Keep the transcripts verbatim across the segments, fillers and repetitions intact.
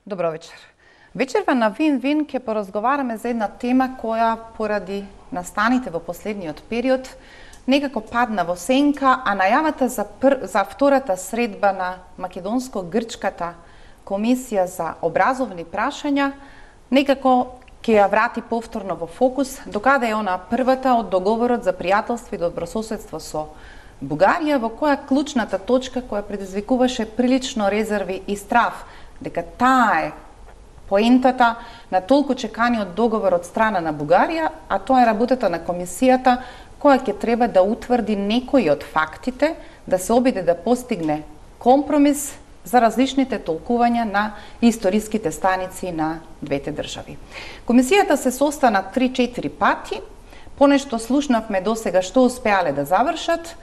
Добро вечер. Вечерва на Вин-Вин ќе поразговараме за една тема која поради настаните во последниот период некако падна во сенка, а најавата за, пр... за втората средба на Македонско-Грчката комисија за образовни прашања некако ќе ја врати повторно во фокус, докаде е она првата од договорот за пријателство и добрососедство со Бугарија, во која клучната точка која предизвикуваше прилично резерви и страв дека таа е поентата на толку чеканиот договор од страна на Бугарија, а тоа е работата на комисијата која ќе треба да утврди некои од фактите, да се обиде да постигне компромис за различните толкувања на историските станици на двете држави. Комисијата се состана три-четири пати, понешто слушнавме досега што успеале да завршат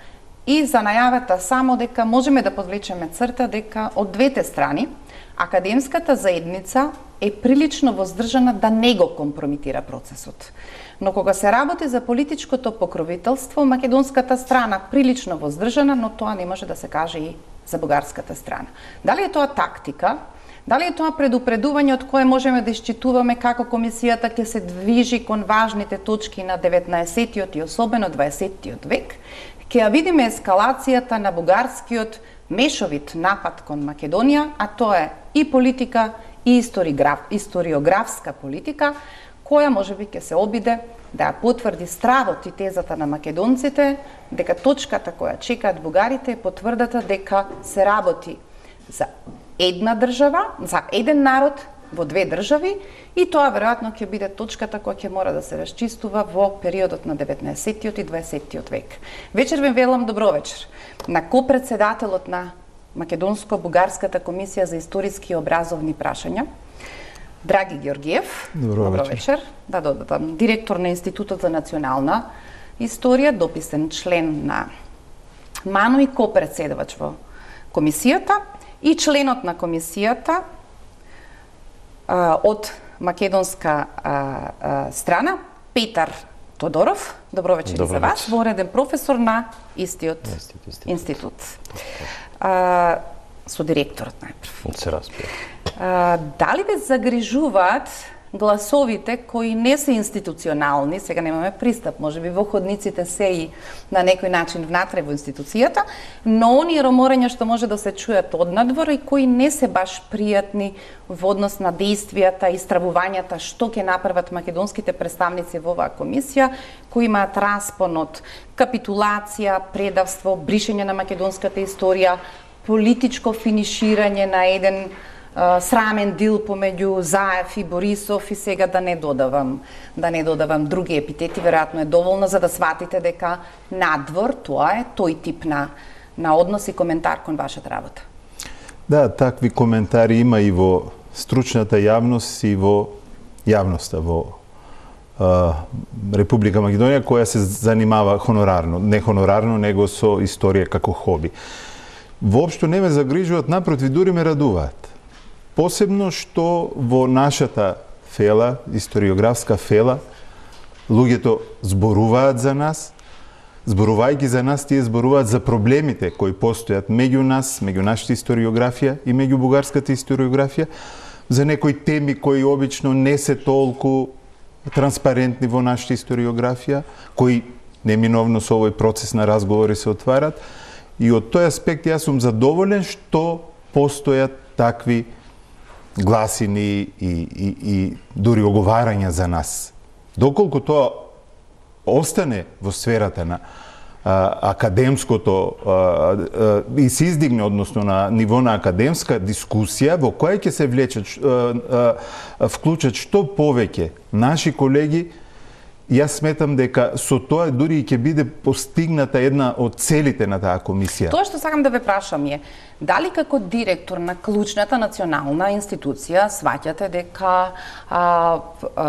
и за најавата само дека можеме да подвлечеме црта дека од двете страни академската заедница е прилично воздржана да не го компромитира процесот. Но кога се работи за политичкото покровителство, македонската страна прилично воздржана, но тоа не може да се каже и за бугарската страна. Дали е тоа тактика? Дали е тоа предупредување од кое можеме да исчитуваме како комисијата ќе се движи кон важните точки на деветнаесеттиот и особено дваесеттиот век? Ќе ја видиме ескалацијата на бугарскиот мешовит напад кон Македонија, а тоа е и политика, и историографска политика, која можеби ќе се обиде да ја потврди стравот и тезата на македонците, дека точката која чекаат бугарите е потврдата дека се работи за една држава, за еден народ во две држави, и тоа веројатно ќе биде точката која ќе мора да се расчистува во периодот на деветнаесеттиот и дваесеттиот век. Вечер ви велам добро вечер на копредседателот на Македонско-бугарската комисија за историски и образовни прашања, Драги Георгиев. Добро, добро вечер. вечер. Да додадам, директор на Институтот за национална историја, дописен член на МАНУ и копредседавач во комисијата, и членот на комисијата а, од македонска а, а, страна, Петар Тодоров. Добро вечер и за вас, вореден професор на истиот институт. институт. А, со директорот најпрв. Се распија. А, дали ве загрижуваат гласовите кои не се институционални, сега немаме пристап, можеби во ходниците се и на некој начин внатре во институцијата, но оние роморења што може да се чујат однадвор и кои не се баш пријатни во однос на действијата и стравувањата што ќе направат македонските представници во оваа комисија, кои имаат распон од капитулација, предавство, бришење на македонската историја, политичко финиширање на еден срамен дил помеѓу Заев и Борисов, и сега да не додавам да не додавам други епитети, веројатно е доволно за да сватите дека надвор тоа е тој тип на на однос и коментар кон вашата работа. Да, такви коментари има и во стручната јавност и во јавноста во а, Република Македонија, која се занимава хонорарно, не хонорарно, него со историја како хоби. Воопшто не ме загрижуваат, напротив, дури ме радуваат. Посебно што во нашата фела, историографска фела, луѓето зборуваат за нас, зборувајќи за нас, тие зборуваат за проблемите кои постојат меѓу нас, меѓу нашата историографија и меѓу бугарската историографија, за некои теми кои обично не се толку транспарентни во нашата историографија, кои неминовно со овој процес на разговори се отварат. И од тој аспект јас сум задоволен што постојат такви гласини и, и, и дури оговарања за нас. Доколку тоа остане во сферата на а, академското а, а, и се издигне, односно на ниво на академска дискусија, во која ќе се влечат, а, а, вклучат што повеќе наши колеги, јас сметам дека со тоа дури и ќе биде постигната една од целите на таа комисија. Тоа што сакам да ве прашам е, дали како директор на клучната национална институција сваќате дека а, а,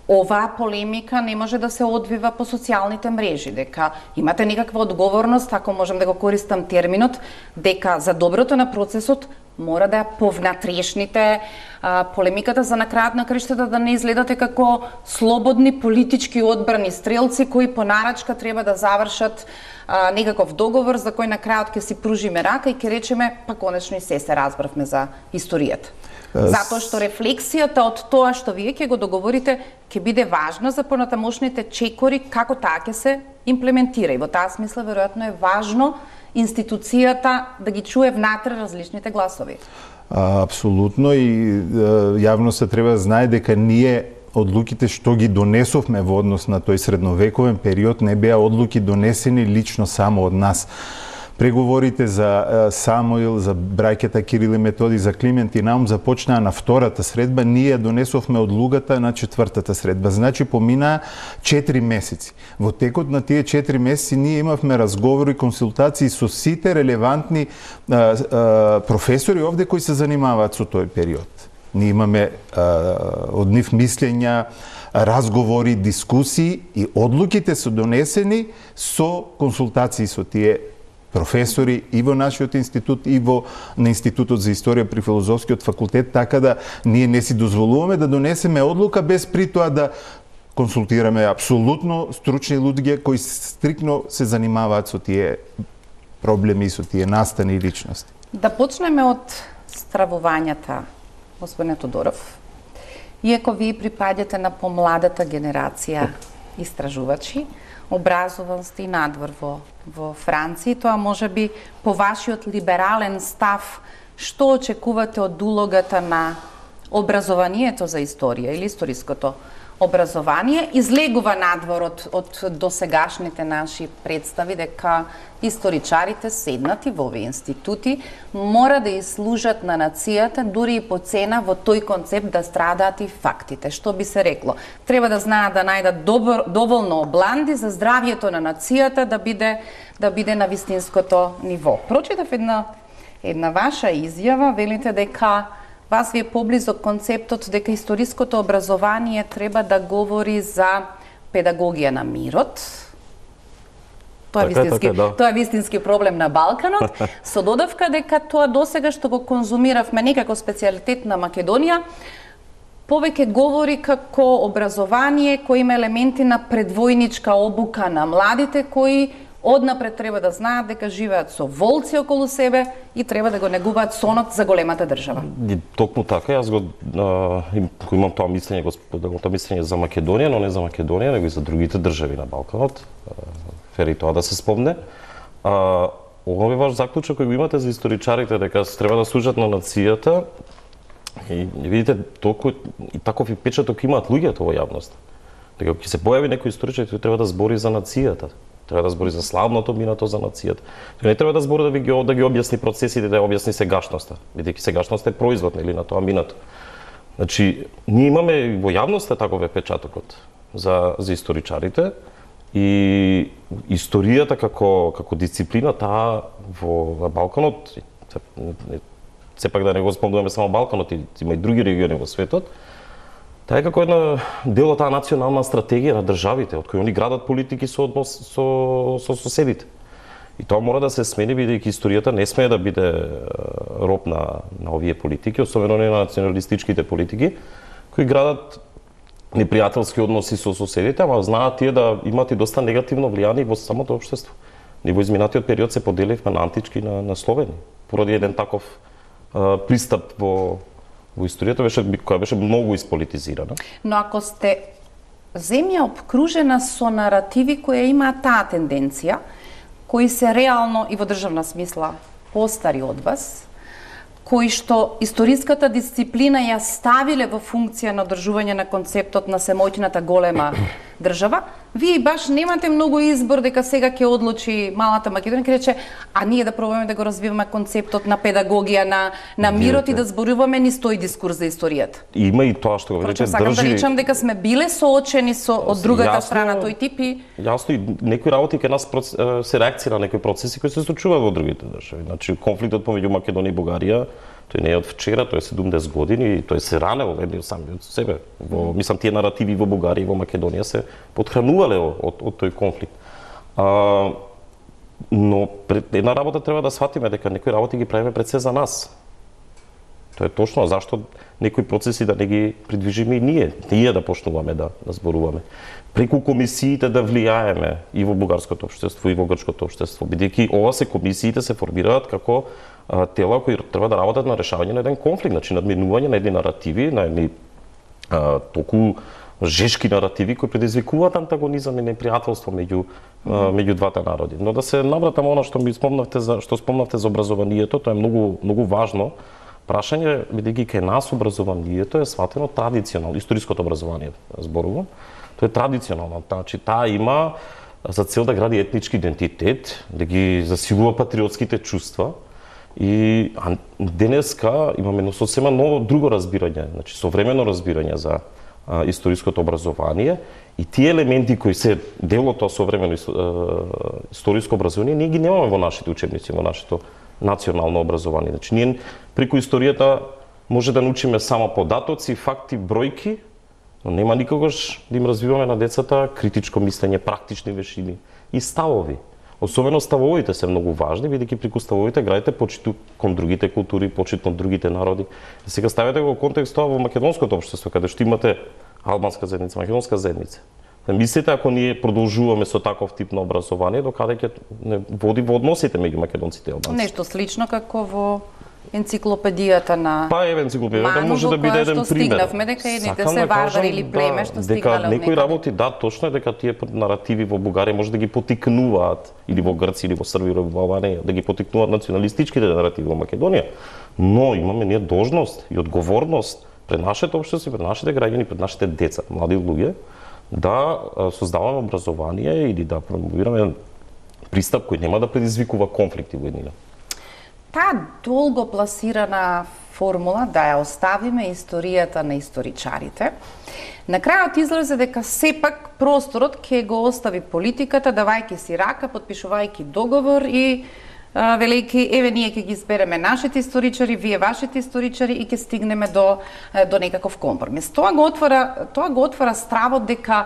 оваа полемика не може да се одвива по социјалните мрежи, дека имате некаква одговорност, ако можам да го користам терминот, дека за доброто на процесот мора да ја повнатрешните а, полемиката за на крајот на краиштата да не изгледате како слободни политички одбрани стрелци кои по нарачка треба да завршат а, некаков договор за кој на крајот ќе си пружиме рака и ќе речеме па конечно и се се разбравме за историјата. Затоа што рефлексијата од тоа што вие ќе го договорите ќе биде важна за понатамошните чекори како таа ќе се имплементира. И во таа смисла веројатно е важно институцијата да ги чуе внатре различните гласови. А, апсолутно, и јавноста треба да знае дека ние одлуките што ги донесовме во однос на тој средновековен период не беа одлуки донесени лично само од нас. Преговорите за Самуил, за браќата Кирил и Методи, за Климент и Наум започнаа на втората средба, ние донесовме одлугата на четвртата средба. Значи поминаа четири месеци. Во текот на тие четири месеци ние имавме разговори и консултации со сите релевантни а, а, професори овде кои се занимаваат со тој период. Ние имаме а, од нив мислења, разговори, дискусии и одлуките се донесени со консултации со тие професори и во нашиот институт и во на Институтот за историја при Филозофскиот факултет, така да ние не си дозволуваме да донесеме одлука без при тоа да консултираме апсолутно стручни луѓе кои стрикно се занимаваат со тие проблеми, со тие настани и личности. Да почнеме од стравувањата, господине Тодоров. Иако вие припаѓате на помладата генерација истражувачи, образован сте и надвор во, во Франција, тоа може би по вашиот либерален став, што очекувате од улогата на образованието за историја или историското образование, излегува надвор од, од досегашните наши представи дека историчарите седнати во овие институти мора да служат на нацијата, дури и по цена во тој концепт да страдаат и фактите. Што би се рекло? Треба да знаат да најдат добр, доволно обланди за здравието на нацијата да биде да биде на вистинското ниво. Прочитав една една ваша изјава, велите дека вас ви е поблизок концептот дека историското образование треба да говори за педагогија на мирот. Тоа е вистински, така, да. Тоа е вистински проблем на Балканот, со додавка дека тоа досега што го конзумиравме некако специјалитет на Македонија, повеќе говори како образование кој има елементи на предвојничка обука на младите кои однапред треба да знаат дека живеат со волци околу себе и треба да го негуваат сонот за големата држава. И токму така, јас го а, имам тоа мислење, го тоа мислење за Македонија, но не за Македонија, него и за другите држави на Балканот. Фери тоа да се спомне. А, овој ваш заклучок кој го имате за историчарите дека треба да служат на нацијата, и видите толку и таков и печаток имаат луѓето во јавност. Дека ќе се појави некој историчар кој треба да збори за нацијата. Треба да збори за славното минато за нацијата. Тој не треба да збори да ви ги да ги објасни процесите, да ја објасни сегашноста, бидејќи сегашноста е производ или на тоа минато. Значи, ние имаме во јавноста таков е печатокот за за историчарите и историјата како како дисциплина таа во Балканот, сепак да не го спомнуваме само Балканот, има и други региони во светот. Таа е како една дел од таа национална стратегија на државите, од кој они градат политики со однос со со соседите. И тоа мора да се смени, бидејќи историјата не смее да биде роб на на овие политики, особено не на националистичките политики, кои градат непријателски односи со соседите, ама знаат тие да имаат и доста негативно влијание во самото општество. Ние во изминатиот период се поделивме на антички на на словени, поради еден таков а, пристап во во историјата беше која беше многу исполитизирана. Но ако сте земја обкружена со наративи кои имаат таа тенденција, кои се реално и во државна смисла постари од вас, кои што историската дисциплина ја ставиле во функција на одржување на концептот на семојната голема држава, вие баш немате многу избор дека сега ќе одлучи малата Македонија, ќе рече, а ние да пробаме да го развиваме концептот на педагогија на на мирот и да зборуваме низ тој дискурс за историјата. Има и тоа што го рече, сакам држи... да речам дека сме биле соочени со од другата Јасно, страна тој тип и Јасно, и некои работи кај нас проц... се реакција на некои процеси кои се случуваат во другите држави. Значи конфликтот помеѓу Македонија и Бугарија, тој не е од вчера, тој е седумдесет години и тој се ранел едни сами од себе. Во, мислам, тие наративи во Бугарија и во Македонија се подхранувале од, од тој конфликт. А, но пред една работа треба да сватиме дека некои работи ги правиме пред се за нас. Тоа е точно, зашто некои процеси да не ги придвижиме и ние, ние да почнуваме да, да зборуваме. Преку комисиите да влијаеме и во бугарското општество и во грчкото општество, бидејќи ова се комисиите се формираат како а, тела кои треба да работат на решавање на еден конфликт, значи надминување на едни наративи, на едни а, толку жешки наративи кои предизвикуваат антагонизам и непријателство меѓу меѓу двата народи. Но да се навратам она што ми спомнавте за што спомнавте за образованието, тоа е многу многу важно прашање, бидејќи кај нас образованието е сватено традиционално, историското образование зборувам. Тоа е традиционално, значи таа има за цел да гради етнички идентитет, да ги засилува патриотските чувства. И а, денеска имаме едно сосема ново друго разбирање, значи современо разбирање за а, историското образование и тие елементи кои се дел од тоа современо историско образование, ние ги немаме во нашите учебници, во нашето национално образование. Значи ние преку историјата може да научиме само податоци, факти, бројки, но нема никогаш да им развиваме на децата критичко мислење, практични вешини и ставови. Особено ставовите се многу важни, бидејќи преку ставовите градите почит кон другите култури, почит кон другите народи. Сега ставете го контекст тоа во македонското општество, каде што имате албанска заедница, македонска заедница. Мислите ако ние продолжуваме со таков тип на образование, докаде ќе води во односите меѓу македонците и албанците? Нешто слично како во енциклопедијата на Па еве енциклопедијата може да биде еден пример. Стигнавме дека едните се варвари или племе што стигнале од некои работи, да, точно е дека тие наративи во Бугарија може да ги потикнуваат или во Грција или во Србија или во Албанија, да ги потикнуваат националистичките наративи во Македонија. Но имаме ние должност и одговорност пред нашето општество, пред нашите граѓани, пред нашите деца, млади луѓе, да создаваме образование или да промовираме пристап кој нема да предизвикува конфликти во еднина. Таа долго пласирана формула да ја оставиме историјата на историчарите, на крајот излезе дека сепак просторот ќе го остави политиката, давајќи си рака, подпишувајќи договор и а, велејќи еве ние ќе ги избереме нашите историчари, вие вашите историчари и ќе стигнеме до до некаков компромис. Тоа го отвора тоа го отвора стравот дека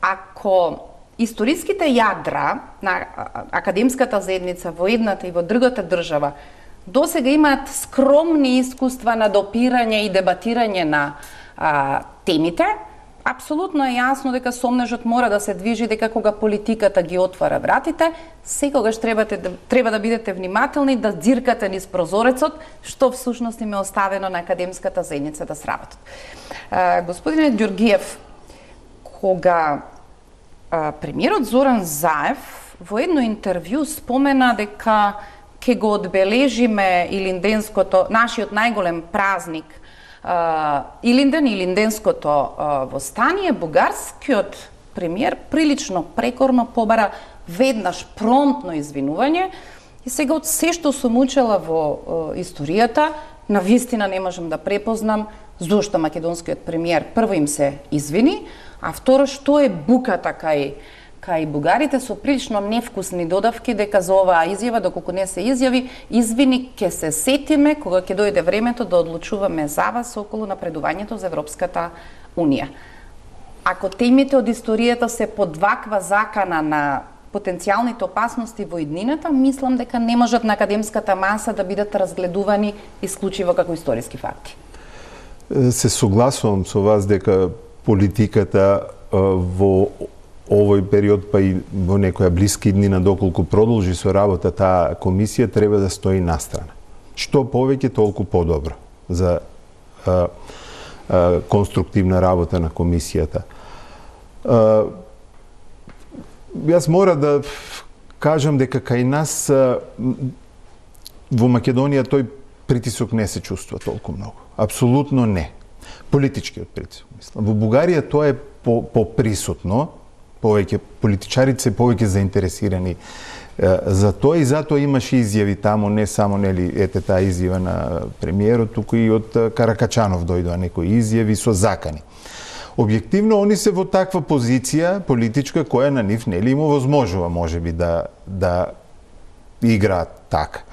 ако историските јадра на академската заедница во едната и во другата држава досега имаат скромни искуства на допирање и дебатирање на а, темите, апсолутно е јасно дека сомнежот мора да се движи, дека кога политиката ги отвара вратите, секогаш требате да, треба да бидете внимателни, да дзиркате низ прозорецот, што всушност им е оставено на академската заедница да сработат. А, господине Ѓоргиев, кога а, премиерот Зоран Заев во едно интервју спомена дека ќе го одбележиме Илинденското, нашиот најголем празник, Uh, Илинден и Илинденското uh, востание, бугарскиот премиер прилично прекорно побара веднаш промптно извинување и сега од се што сум учела во uh, историјата, на вистина не можам да препознам зошто македонскиот премиер прво им се извини, а второ што е буката кај кај бугарите со прилично невкусни додавки дека за оваа изјава, доколку не се изјави, извини, ќе се сетиме кога ќе дојде времето да одлучуваме за вас околу напредувањето за Европската Унија. Ако темите од историјата се под ваква закана на потенцијалните опасности во иднината, мислам дека не можат на академската маса да бидат разгледувани исклучиво како историски факти. Се согласувам со вас дека политиката во овој период, па и во некоја блиски иднина, доколку продолжи со работа таа комисија, треба да стои настрана. Што повеќе, толку подобро за а, а, конструктивна работа на комисијата. А, јас мора да кажам дека кај нас а, во Македонија тој притисок не се чувствува толку многу. Апсолутно не. Политичкиот притисок, мислам. Во Бугарија тоа е по, поприсутно, повеќе политичарите се повеќе заинтересирани е, за тоа и затоа имаше изјави таму, не само нели ете таа изјава на премиерот, туку и од Каракачанов дојдоа некои изјави со закани. Објективно они се во таква позиција политичка која на нив нели им овозможува можеби да да играат така.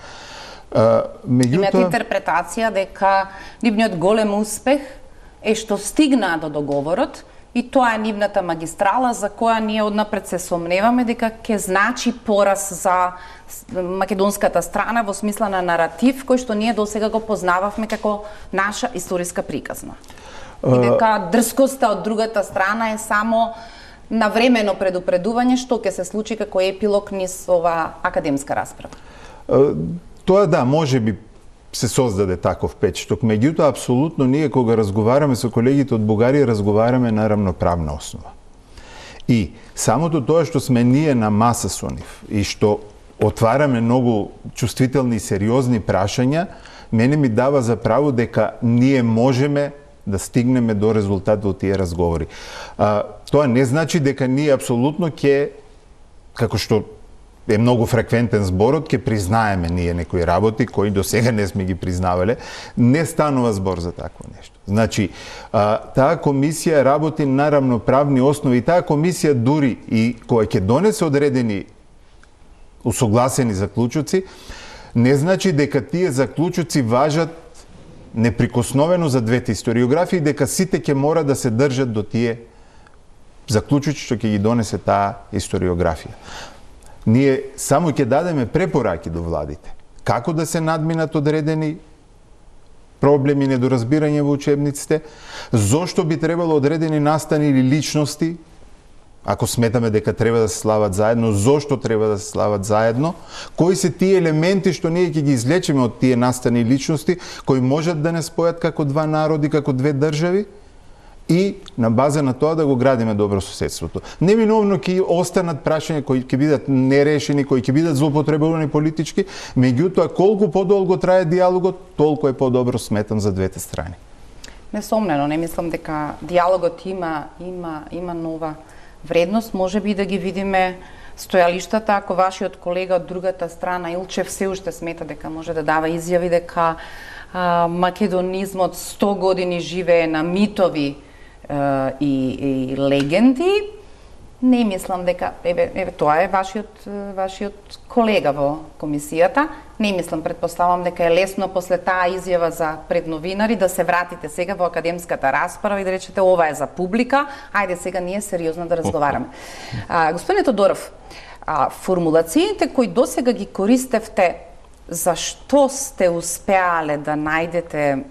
Меѓутоа имате интерпретација дека нивниот голем успех е што стигнаа до договорот, и тоа е нивната магистрала за која ние однапред се сомневаме дека ќе значи пораз за македонската страна во смисла на наратив кој што ние досега го познававме како наша историска приказна. И дека дрскоста од другата страна е само навремено предупредување што ќе се случи како епилог низ ова академска расправа. Тоа да, може би се создаде таков печток, меѓутоа апсолутно ние кога разговараме со колегите од Бугарија разговараме на рамноправна основа. И самото тоа што сме ние на маса со нив и што отвараме многу чувствителни и сериозни прашања, мене ми дава за право дека ние можеме да стигнеме до резултат во тие разговори. А, тоа не значи дека ние апсолутно ќе, како што е многу фреквентен зборот, ќе признаеме ние некои работи кои до сега не сме ги признавале. Не станува збор за такво нешто. Значи, а, таа комисија работи на рамноправни основи. Таа комисија дури и која ќе донесе одредени усогласени заклучоци, не значи дека тие заклучоци важат неприкосновено за двете историографии, дека сите ќе мора да се држат до тие заклучоци што ќе ги донесе таа историографија. Ние само ќе дадеме препораки до владите. Како да се надминат одредени проблеми, недоразбирање во учебниците, зошто би требало одредени настани или личности, ако сметаме дека треба да се слават заедно, зошто треба да се слават заедно, кои се тие елементи што ние ќе ги извлечеме од тие настани личности, кои можат да не спојат како два народи, како две држави, и на база на тоа да го градиме добрососедството. Неминовно ќе останат прашања кои ќе бидат нерешени, кои ќе бидат злоупотребувани политички, меѓутоа колку подолго трае диалогот, толку е подобро, сметам, за двете страни. Несомнено, не мислам дека диалогот има има има нова вредност, може би да ги видиме стојалиштата, ако вашиот колега од другата страна Илчев се уште смета дека може да дава изјави дека а, македонизмот сто години живее на митови и, и легенди, не мислам дека еве еве тоа е вашиот вашиот колега во комисијата. Не мислам, предпоставам дека е лесно после таа изјава за пред новинари да се вратите сега во академската расправа и да речете ова е за публика, ајде сега ние сериозно да разговараме. А, господине Тодоров, а, формулациите кои досега ги користевте, зашто сте успеале да најдете е,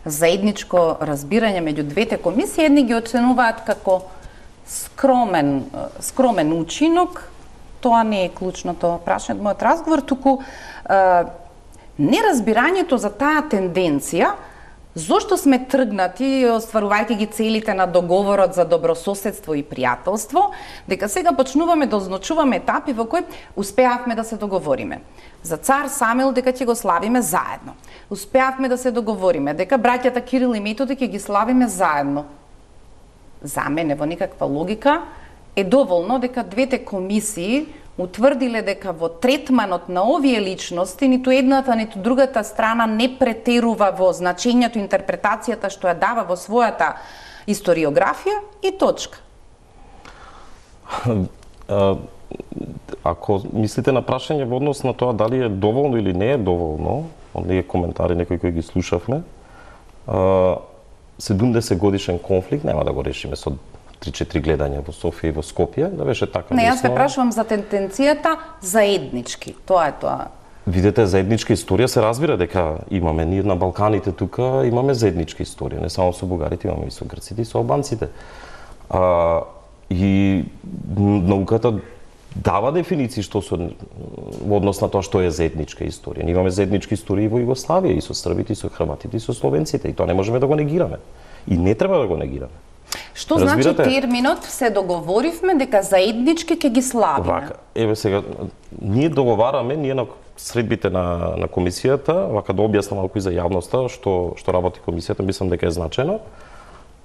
заедничко разбирање меѓу двете комисии, едни ги оценуваат како скромен, скромен учинок. Тоа не е клучното прашање од мојот разговор, туку е, неразбирањето за таа тенденција, зошто сме тргнати, остварувајќи ги целите на договорот за добрососедство и пријателство, дека сега почнуваме да означуваме етапи во кои успеавме да се договориме. За цар Самил дека ќе го славиме заедно. Успеавме да се договориме дека браќата Кирил и Методи ќе ги славиме заедно. За мене во никаква логика е доволно дека двете комисии утврдиле дека во третманот на овие личности ниту едната, ниту другата страна не претерува во значењето, интерпретацијата што ја дава во својата историографија и точка. Ако мислите на прашање во однос на тоа дали е доволно или не е доволно, оние коментари некои кои ги слушавме, седумдесет годишен конфликт нема да го решиме со три-четири гледања во Софија и во Скопје, да беше така. Не, јас се прашувам за тенденцијата заеднички. Тоа е тоа. Видете, заедничка историја се разбира дека имаме ние на Балканите тука, имаме заедничка историја, не само со бугарите, имаме и со грците и со албанците. А, и науката дава дефиниции што со во однос на тоа што е заедничка историја. Ние имаме заедничка историја и во Југославија, и со србите, и со хрватите, и со словенците, и тоа не можеме да го негираме. И не треба да го негираме. Што Разбирате? Значи терминот се договоривме дека заеднички ќе ги славиме? Вака, еве сега, ние договараме, ние на средбите на, на комисијата, вака да објаснам малку и за јавноста што, што работи комисијата, мислам дека е значено.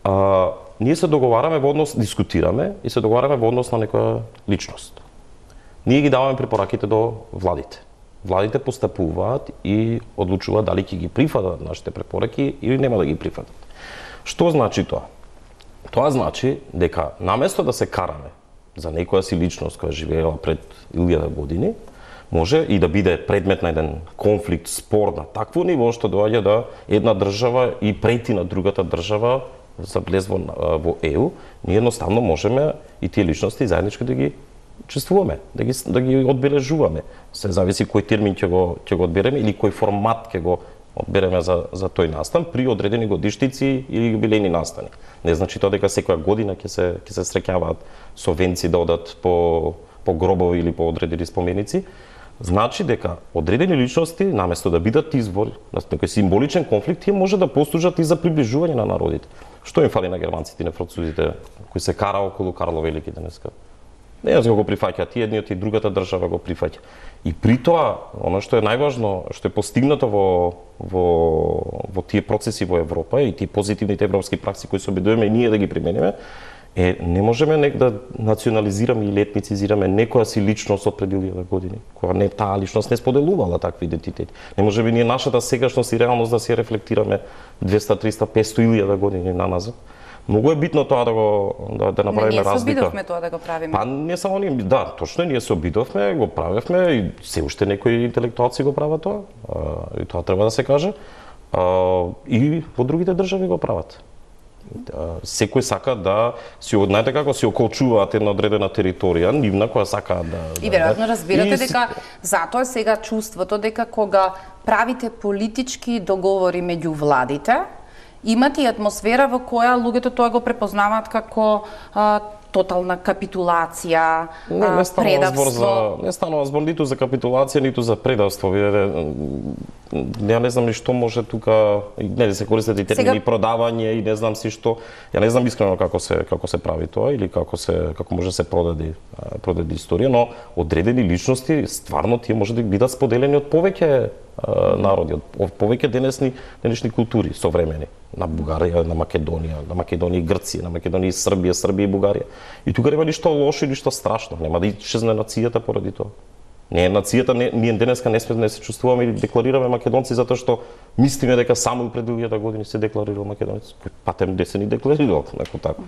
А, ние се договараме во однос, дискутираме и се договараме во однос на некоја личност. Ние ги даваме препораките до владите. Владите постапуваат и одлучуваат дали ќе ги прифатат нашите препораки или нема да ги прифатат. Што значи тоа? Тоа значи дека наместо да се караме за некоја си личност која живеела пред илјада години, може и да биде предмет на еден конфликт, спор на такво ниво што доаѓа да една држава и прети на другата држава за влез во, во Е У, ние едноставно можеме и тие личности заеднички да ги чувствуваме, да ги да ги одбележуваме. Се зависи кој термин ќе го ќе го одбереме или кој формат ќе го одбереме за за тој настан при одредени годишници или јубилејни настани. Не значи тоа дека секоја година ќе се ќе се среќаваат совенци да одат по по гробови или по одредени споменици. Значи дека одредени личности наместо да бидат извор на некој символичен конфликт, тие може да послужат и за приближување на народите. Што им фали на германците и на французите кои се кара околу Карло Велики денеска? Не јас го прифаќаат, и едниот и другата држава го прифаќа. И при тоа, оно што е најважно, што е постигнато во во во тие процеси во Европа и тие позитивните европски пракси кои се обидуваме и ние да ги примениме, е не можеме нек да национализираме или етницизираме некоја си личност од пред илјада години, кога не таа личност не споделувала такви идентитети. Не можеме ние нашата сегашност и реалност да се рефлектираме двеста, триста, петсто илјада години наназад. Многу е битно тоа да го да, да направиме разлика. Не, ние се обидовме тоа да го правиме. Па не само ние, да, точно ние се обидовме, го правевме и се уште некои интелектуалци го прават тоа. А, и тоа треба да се каже. А, и во другите држави го прават. А, секој сака да си знаете како си околчуваат една одредена територија, нивна која сака да. И веројатно да, разбирате и... дека затоа сега чувството дека кога правите политички договори меѓу владите, имате и атмосфера во која луѓето тоа го препознаваат како а, тотална капитулација, не, не предавство. За, не станува збор ниту за капитулација, ниту за предавство. Ја не знам ни што може тука, не се користат и термини Сега... продавање и не знам си што. Ја не знам искрено како се како се прави тоа или како се како може се продади продади историја, но одредени личности стварно тие може да бидат споделени од повеќе народи, од повеќе денесни денешни култури современи, на Бугарија, на Македонија, на Македонија и Грција, на Македонија и Србија, Србија и Бугарија. И тука нема ништо лошо и ништо страшно, нема да исчезне нацијата поради тоа. Не е нацијата, не, ние денеска не сме да не се чувствуваме или декларираме македонци затоа што мислиме дека само пред илјада години се декларирал македонец. Патем де се ни декларирал, неко така.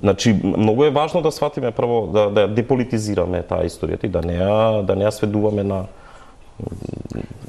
Значи, многу е важно да сватиме прво да да деполитизираме таа историјата и да не ја да не ја сведуваме на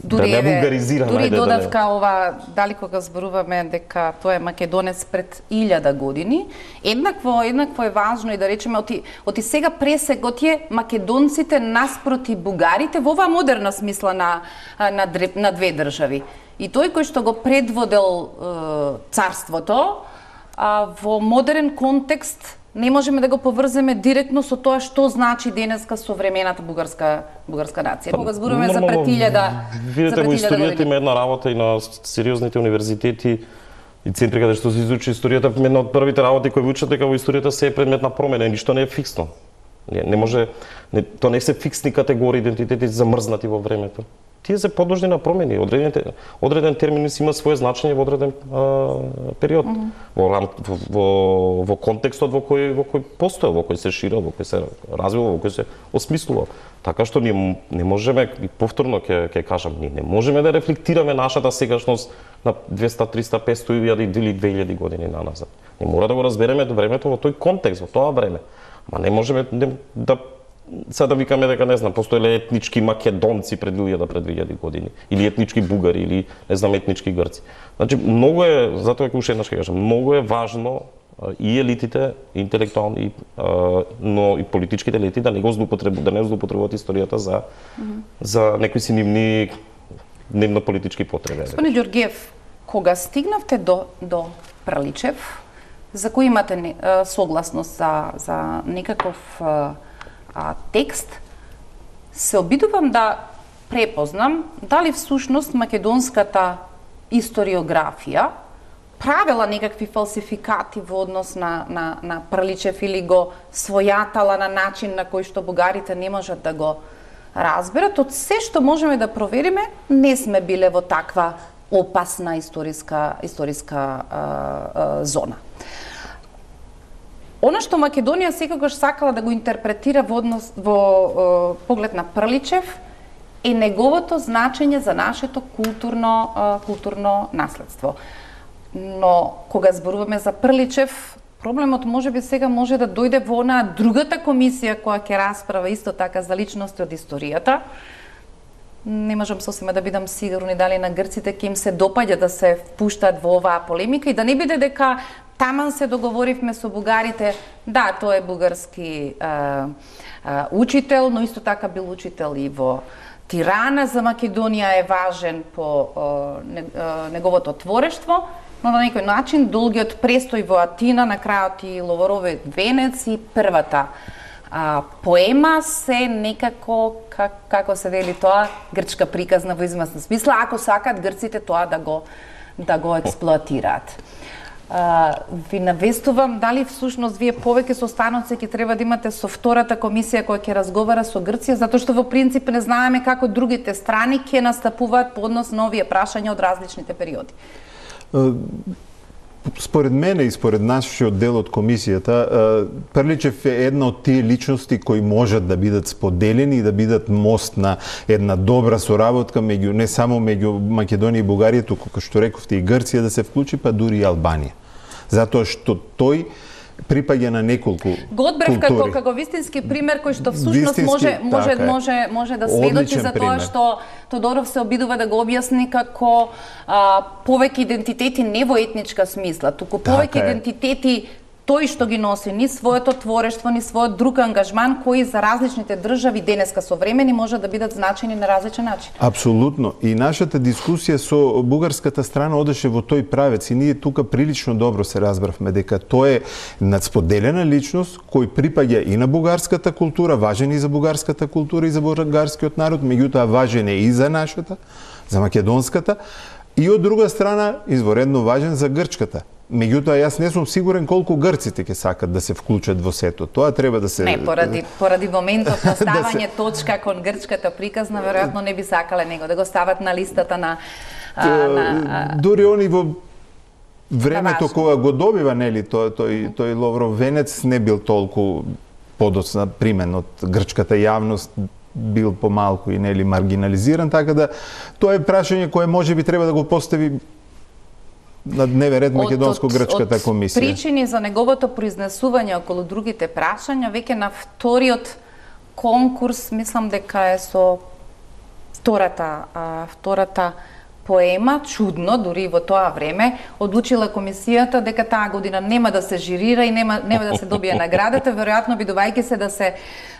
Дури, да не вулгаризираме. Дури додавка да не... ова, дали кога зборуваме дека тоа е македонец пред илјада години, еднакво, еднакво е важно и да речеме, оти, оти сега пресегот е македонците наспроти бугарите во оваа модерна смисла на, на, на две држави. И тој кој што го предводел е, царството, а, во модерен контекст не можеме да го поврземе директно со тоа што значи денеска современата бугарска бугарска нација. Кога зборуваме за пред илјада, видите во историјата има една работа и на сериозните универзитети и центри каде што се изучи историјата, една од првите работи кои учат дека во историјата се е предмет на промена, ништо не е фиксно. Не, не може не, тоа не се фиксни категории идентитети замрзнати во времето. Тие се подложни на промени. Одреден, одреден термин си има свое значење во одреден а, период. Mm -hmm. во, во, во контекстот во кој во кој постои, во кој се ширил, во кој се развива, во кој се осмислува. Така што ние не можеме, и повторно ќе ќе кажам, ние не можеме да рефлектираме нашата сегашност на двеста, триста, петсто илјади или две илјади години наназад. Не мора да го разбереме до времето во тој контекст, во тоа време. Ма не можеме не, да сега да викаме дека не знам, постоеле етнички македонци пред илјада, пред две илјади години, или етнички бугари, или не знам етнички грци. Значи многу е, затоа ќе уште еднаш ќе кажам, многу е важно и елитите интелектуални, но и политичките елити да не го злоупотребуваат, да не злоупотребуваат историјата за mm -hmm. за некои си нивни дневно политички потреби. Господин Ѓоргиев, кога стигнавте до до Праличев, за кој имате согласност за за некаков А, текст, се обидувам да препознам дали всушност македонската историографија правила некакви фалсификати во однос на, на, на Праличев или го својатала на начин на кој што бугарите не можат да го разберат. Од се што можеме да провериме, не сме биле во таква опасна историска, историска а, а, зона. Она што Македонија секогаш сакала да го интерпретира во однос во е, поглед на Праличев е неговото значење за нашето културно е, културно наследство. Но кога зборуваме за Праличев, проблемот можеби сега може да дојде во онаа другата комисија која ќе расправа исто така за личности од историјата. Не можам сосема да бидам сигурни дали на грците ќе им се допаѓа да се впуштаат во оваа полемика и да не биде дека таман се договоривме со бугарите, да, тој е бугарски а, а, учител, но исто така бил учител и во Тирана. За Македонија е важен по а, не, а, неговото творештво, но на некој начин долгиот престој во Атина, на крајот и Ловоровиот венец и првата а, поема се некако, как, како се вели тоа, грчка приказна во известна смисла, ако сакат грците тоа да го да го експлоатираат. Uh, ви навестувам дали всушност вие повеќе состаноци ќе треба да имате со втората комисија која ќе разговара со Грција, затоа што во принцип не знаеме како другите страни ќе настапуваат по однос на овие прашања од различните периоди. Uh, според мене и според нашиот дел од комисијата, uh, Прличев е една од тие личности кои можат да бидат споделени и да бидат мост на една добра соработка меѓу не само меѓу Македонија и Бугарија, туку како што рековте и Грција да се вклучи, па дури и Албанија. Затоа што тој припаѓа на неколку го одбрав како како вистински пример кој што всушност може може така може може да сведочи за тоа што Тодоров се обидува да го објасни како а, повеќе идентитети не во етничка смисла, туку повеќе така идентитети тој што ги носи ни своето творештво, ни својот друг ангажман кои за различните држави денеска современи може да бидат значени на различен начин. Апсолутно. И нашата дискусија со бугарската страна одеше во тој правец и ние тука прилично добро се разбравме дека тој е надсподелена личност кој припаѓа и на бугарската култура, важен и за бугарската култура и за бугарскиот народ, меѓутоа важен е и за нашата, за македонската, и од друга страна изворедно важен за грчката. Меѓутоа, јас не сум сигурен колку грците ќе сакат да се вклучат во сето. Тоа треба да се... Не, поради, поради моментот на ставање да се... точка кон грчката приказна, веројатно не би сакале него да го стават на листата на... А, на дури они во времето кога го добива, нели, тој, тој, тој Ловров венец не бил толку подоцна примен од грчката јавност, бил помалку и нели маргинализиран, така да тоа е прашање кое можеби треба да го постави на дневен ред македонско-грчката комисија. Од причини за неговото произнесување околу другите прашања, веќе на вториот конкурс, мислам дека е со втората, а, втората поема, чудно, дури во тоа време, одлучила комисијата дека таа година нема да се жирира и нема, нема да се добие наградата, веројатно бидувајќи се да се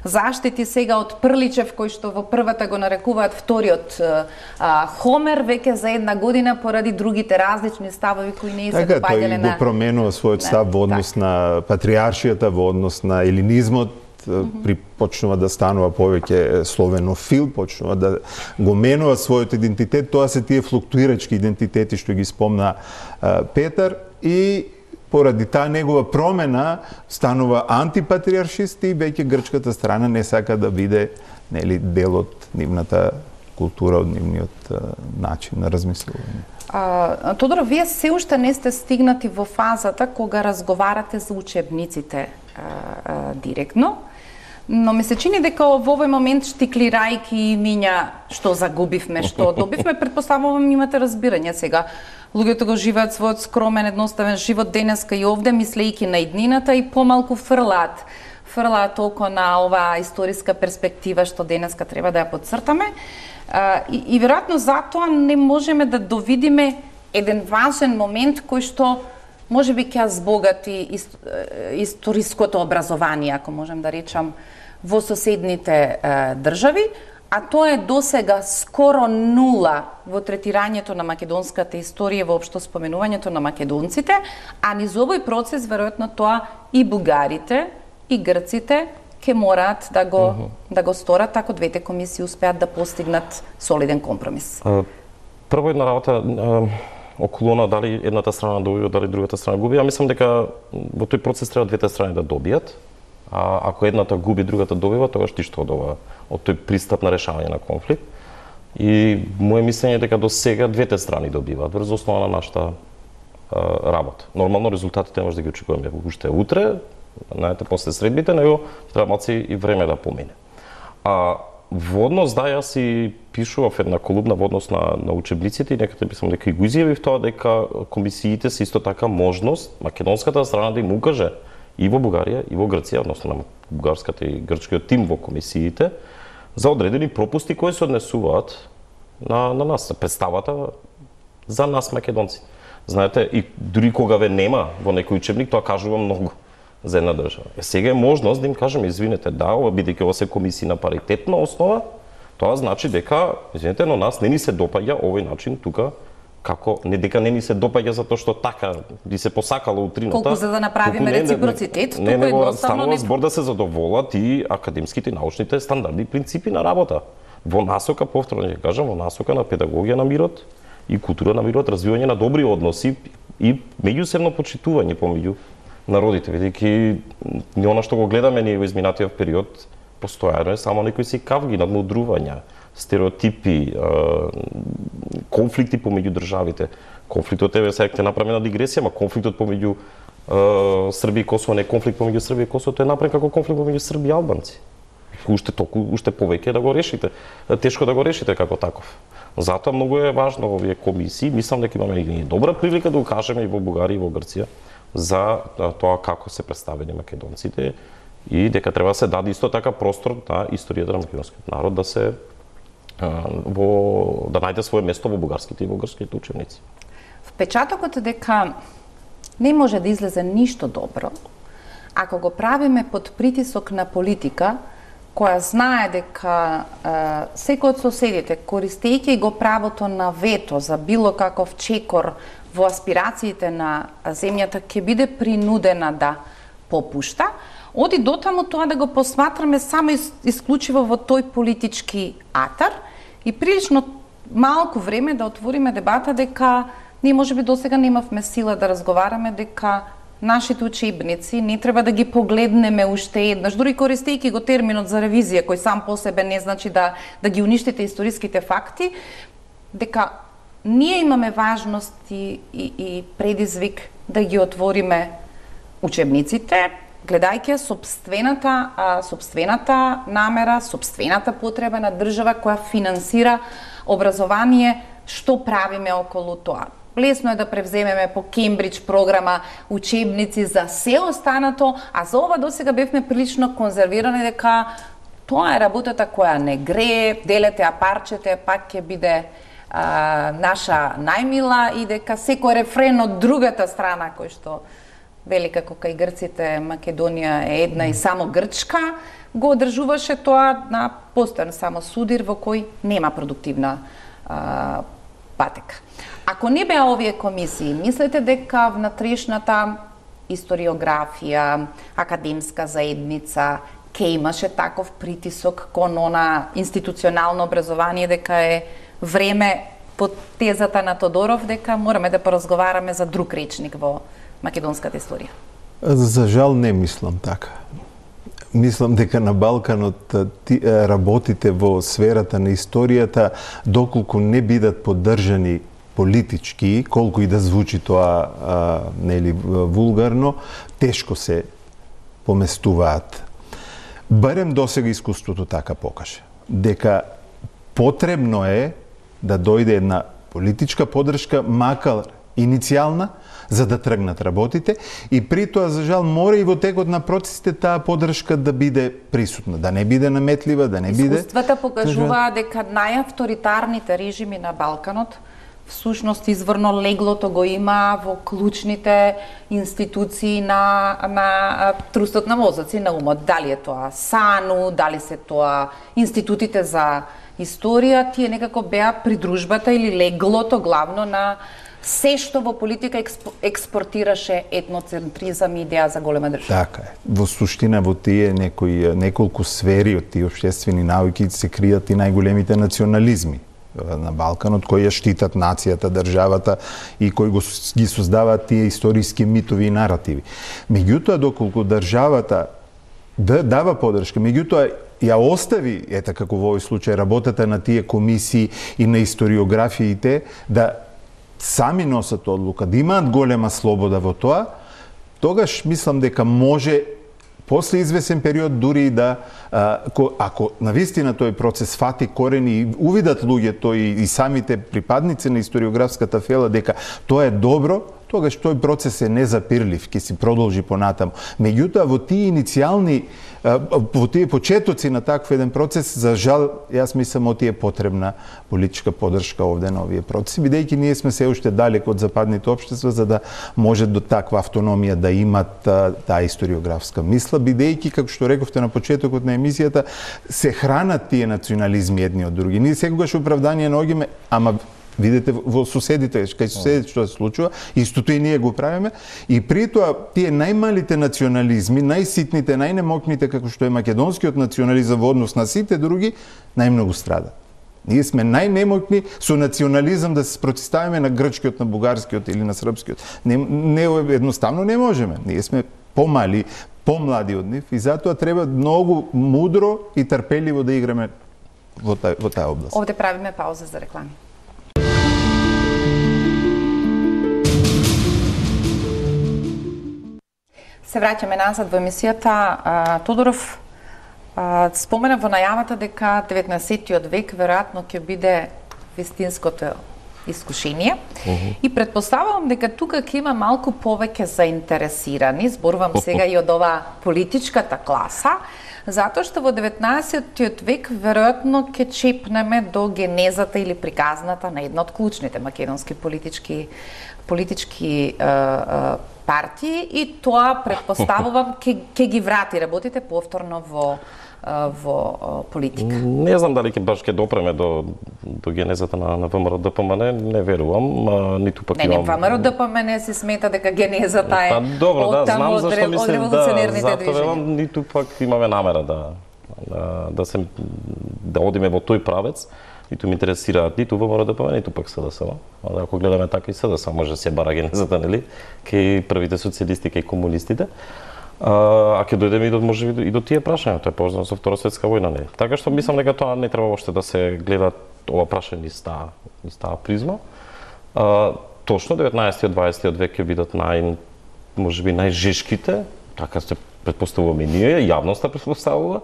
заштити сега од Прличев, кој што во првата го нарекуваат вториот а, Хомер, веќе за една година поради другите различни ставови кои не се допаѓале на... Така, тој го променува својот став во однос так. на патриаршијата, во однос на елинизмот, при почнува да станува повеќе словенофил, почнува да го менува својот идентитет, тоа се тие флуктуирачки идентитети што ги спомна а, Петар, и поради таа негова промена станува антипатриаршист и веќе грчката страна не сака да биде, нели, дел од нивната култура, од нивниот а, начин на размислување. А, Тодор, вие се уште не сте стигнати во фазата кога разговарате за учебниците а, а, директно, но ми се чини дека во овој момент штиклирајки имиња што загубивме, што добивме, предпоставувам имате разбирање сега. Луѓето го живеат својот скромен, едноставен живот денеска и овде, мислејќи на иднината и помалку фрлаат. Фрлаат толку на оваа историска перспектива што денеска треба да ја подцртаме. А, и, и веројатно затоа не можеме да довидиме еден важен момент кој што може би ќе збогати ист, историското образование, ако можем да речам, во соседните е, држави, а тоа е досега скоро нула во третирањето на македонската историја, воопшто споменувањето на македонците, а низ овој процес веројатно тоа и бугарите и грците ќе мораат да го uh -huh. да го сторат ако двете комисии успеат да постигнат солиден компромис. Uh, прво една работа uh... околу на дали едната страна добива, дали другата страна губи. Ја мислам дека во тој процес треба двете страни да добијат. А ако едната губи, другата добива, тогаш ти што од ова, од тој пристап на решавање на конфликт. И моје мислење е дека до сега двете страни добиваат врз основа на нашата а, работа. Нормално резултатите може да ги очекуваме уште утре, знаете, после средбите, него треба малци и време да помине. А во однос, да, јас си пишував една колумна во однос на, на учебниците и некаде мислам дека и го изјавив тоа дека комисиите се исто така можност македонската страна да им укаже и во Бугарија и во Грција, односно на бугарската и грчкиот тим во комисиите, за одредени пропусти кои се однесуваат на, на нас, представата за нас македонци. Знаете, и дури кога ве нема во некој учебник, тоа кажува многу за една држава. Е, сега е можност да им кажеме, извинете, да, ова бидејќи ова се комисии на паритетна основа, тоа значи дека, извинете, но нас не ни се допаѓа овој начин тука, како не дека не ни се допаѓа затоа што така би се посакало утрината. Колку за да направиме не, реципроцитет, не, не, не, туку станува не... збор да се задоволат и академските и научните стандарди и принципи на работа. Во насока, повторно ќе кажам, во насока на педагогија на мирот и култура на мирот, развивање на добри односи и меѓусебно почитување помеѓу народите, бидејќи не она што го гледаме ние во изминатиот период, постојано е само некои си кавги, надмудрувања, стереотипи, конфликти помеѓу државите. Конфликтот е, сега ќе направиме на дигресија, ма конфликтот помеѓу Србија и Косово не е конфликт помеѓу Србија и Косово, тоа е направен како конфликт помеѓу Срби и албанци. Уште толку, уште повеќе да го решите, тешко да го решите како таков. Затоа многу е важно овие комисии, мислам дека имаме и добра прилика да го кажеме и во Бугарија и во Грција за тоа како се представени македонците и дека треба да се даде исто така простор на историјата на македонскиот народ да се во да најде свое место во бугарските и во грчките учебници. Впечатокот е дека не може да излезе ништо добро ако го правиме под притисок на политика која знае дека е, секој од соседите, користејќи го правото на вето за било каков чекор во аспирациите на земјата, ќе биде принудена да попушта, оди дотаму тоа да го посматраме само исклучиво во тој политички атар и прилично малку време да отвориме дебата дека ние можеби досега немавме сила да разговараме дека нашите учебници не треба да ги погледнеме уште еднаш, дури користејќи го терминот за ревизија, кој сам по себе не значи да, да ги уништите историските факти, дека ние имаме важност и, и, и предизвик да ги отвориме учебниците, гледајќи собствената, а, собствената намера, собствената потреба на држава која финансира образование, што правиме околу тоа. Лесно е да превземеме по Кембридж програма учебници за се останато, а за ова досега бевме прилично конзервирани дека тоа е работата која не грее, делете ја парчете, пак ќе биде а, наша најмила и дека секој рефрен од другата страна кој што вели како кај грците Македонија е една и само грчка, го одржуваше тоа на постојан само судир во кој нема продуктивна а, патека. Ако не беа овие комисии, мислите дека внатрешната историографија, академска заедница ќе имаше таков притисок кон она институционално образование дека е време под тезата на Тодоров дека мораме да поразговараме за друг речник во македонската историја? За жал не мислам така. Мислам дека на Балканот ти, работите во сферата на историјата, доколку не бидат поддржани политички, колку и да звучи тоа а, нели вулгарно, тешко се поместуваат. Барем досега искуството така покаже. Дека потребно е да дојде една политичка поддршка, макар иницијална, за да тргнат работите и при тоа, за жал, мора и во текот на процесите таа поддршка да биде присутна, да не биде наметлива, да не биде... Искуствата покажуваат дека најавторитарните режими на Балканот всушност изворно леглото го има во клучните институции на, на трустот на мозоци на умот. Дали е тоа САНУ, дали се тоа институтите за историја, тие некако беа придружбата или леглото главно на се што во политика експортираше етноцентризам и идеја за голема држава. Така е. Во суштина во тие некои неколку сфери од тие општествени науки се кријат и најголемите национализми на Балканот, кои ја штитат нацијата, државата и кои го, ги создаваат тие историски митови и наративи. Меѓутоа, доколку државата дава поддршка, меѓутоа ја остави, ета како во овој случај, работата на тие комисии и на историографиите да сами носат одлука, да имаат голема слобода во тоа, тогаш мислам дека може после извесен период дури да, ако навистина тој процес фати корени и увидат луѓето и, и самите припадници на историографската фела дека тоа е добро, тогаш тој процес е незапирлив, ќе си продолжи понатаму. Меѓутоа, во тие иницијални, во тие почетоци на таков еден процес, за жал, јас мислам, оти е потребна политичка поддршка овде на овие процеси, бидејќи ние сме се уште далеко од западните општества, за да може до таква автономија да имат таа историографска мисла, бидејќи, како што рековте на почетокот на емисијата, се хранат тие национализми едни од други. Ние секогаш оправдание наоѓаме, ама видите во соседите, кај соседите што се случува, истото и ние го правиме, и при тоа тие најмалите национализми, најситните, најнемокните, како што е македонскиот национализам во однос на сите други, најмногу страдат. Ние сме најнемокни со национализам да се спротивставиме на грчкиот, на бугарскиот или на српскиот. Не, не едноставно не можеме. Ние сме помали, помлади од нив и затоа треба многу мудро и трпеливо да играме во таа во таа област. Овде правиме пауза за реклами. Се враќаме назад во емисијата. Тодоров спомена во најавата дека деветнаесеттиот век веројатно ќе биде вистинското искушение. Uh -huh. И претпоставувам дека тука ќе има малку повеќе заинтересирани, зборувам сега и од ова политичката класа, затоа што во деветнаесеттиот век веројатно ќе чепнеме до генезата или приказната на една од клучните македонски политички политички е, е, партии и тоа претпоставувам ќе ќе ги врати работите повторно во во политика. Не знам дали ќе баш ќе допреме до до генезата на на ВМРО Д П М Н, не верувам, а, ниту пак не, имам. Не, не, ВМРО Д П М Н се смета дека генезата е. Па добро, да, знам зашто мислам да, затоа велам, ниту пак имаме намера да да да се да одиме во тој правец. Ниту ме интересираат ниту ВМРО Д П М Н, ниту пак С Д С. А ако гледаме така и С Д С, може се бара генезата, нели, кај првите социјалисти, кај комунистите. А, а ќе дојдеме и до можеби и до тие прашања, тоа е поврзано со Втора светска војна, не. Така што мислам дека тоа не треба още да се гледа ова прашање низ таа низ таа призма. А, точно деветнаесеттиот дваесеттиот век ќе бидат нај можеби најжешките, така се претпоставуваме ние, јавноста претпоставува.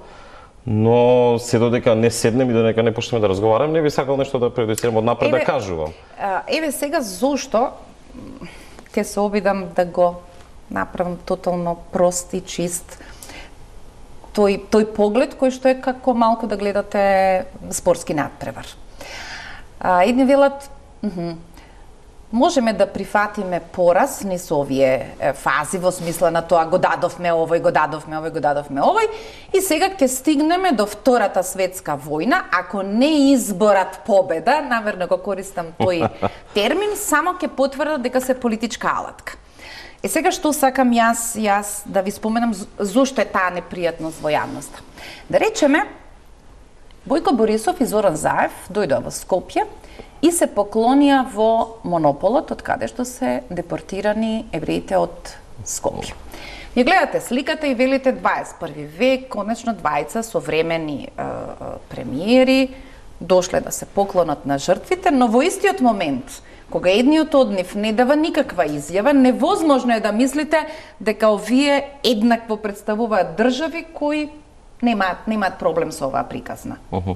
Но се додека не седнем и додека не почнеме да разговараме, не би сакал нешто да предоставам од напред да кажувам. Еве сега зошто ќе се обидам да го направам тотално прост и чист тој тој поглед кој што е како малку да гледате спортски надпревар. А, едни велат, можеме да прифатиме пораз низ овие фази во смисла на тоа го дадовме овој, го дадовме овој, го дадовме овој и сега ќе стигнеме до Втората светска војна, ако не изборат победа, намерно го користам тој термин, само ќе потврдат дека се политичка алатка. Е сега што сакам јас, јас да ви споменам зошто е таа непријатност во јавноста. Да речеме, Бојко Борисов и Зоран Заев дојдоа во Скопје и се поклонија во монополот од каде што се депортирани евреите од Скопје. Ја гледате сликата и велите дваесет и први век, конечно двајца современи е, премиери дошле да се поклонат на жртвите, но во истиот момент кога едниот од нив не дава никаква изјава, невозможно е да мислите дека овие еднакво представуваат држави кои немаат немаат проблем со оваа приказна. Uh -huh.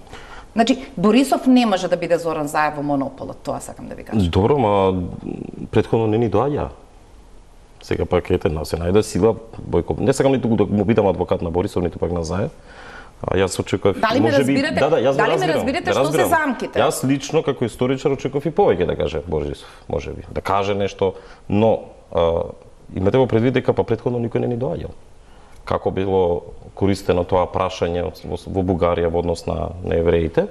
Значи Борисов не може да биде Зоран Заев во монополот, тоа сакам да ви кажам. Добро, ма претходно не ни доаѓа. Сега пак ете на се најде сила Бојко. Не сакам ниту да му бидам адвокат на Борисов, ниту пак на Заев. А јас очекував можеби да, да, јас дали ме разбирате што се замките? Јас лично како историчар очекував и повеќе да каже Борисов, можеби, да каже нешто, но а, имате во предвид дека па претходно никој не ни доаѓал. Како било користено тоа прашање во, во Бугарија во однос на, на евреите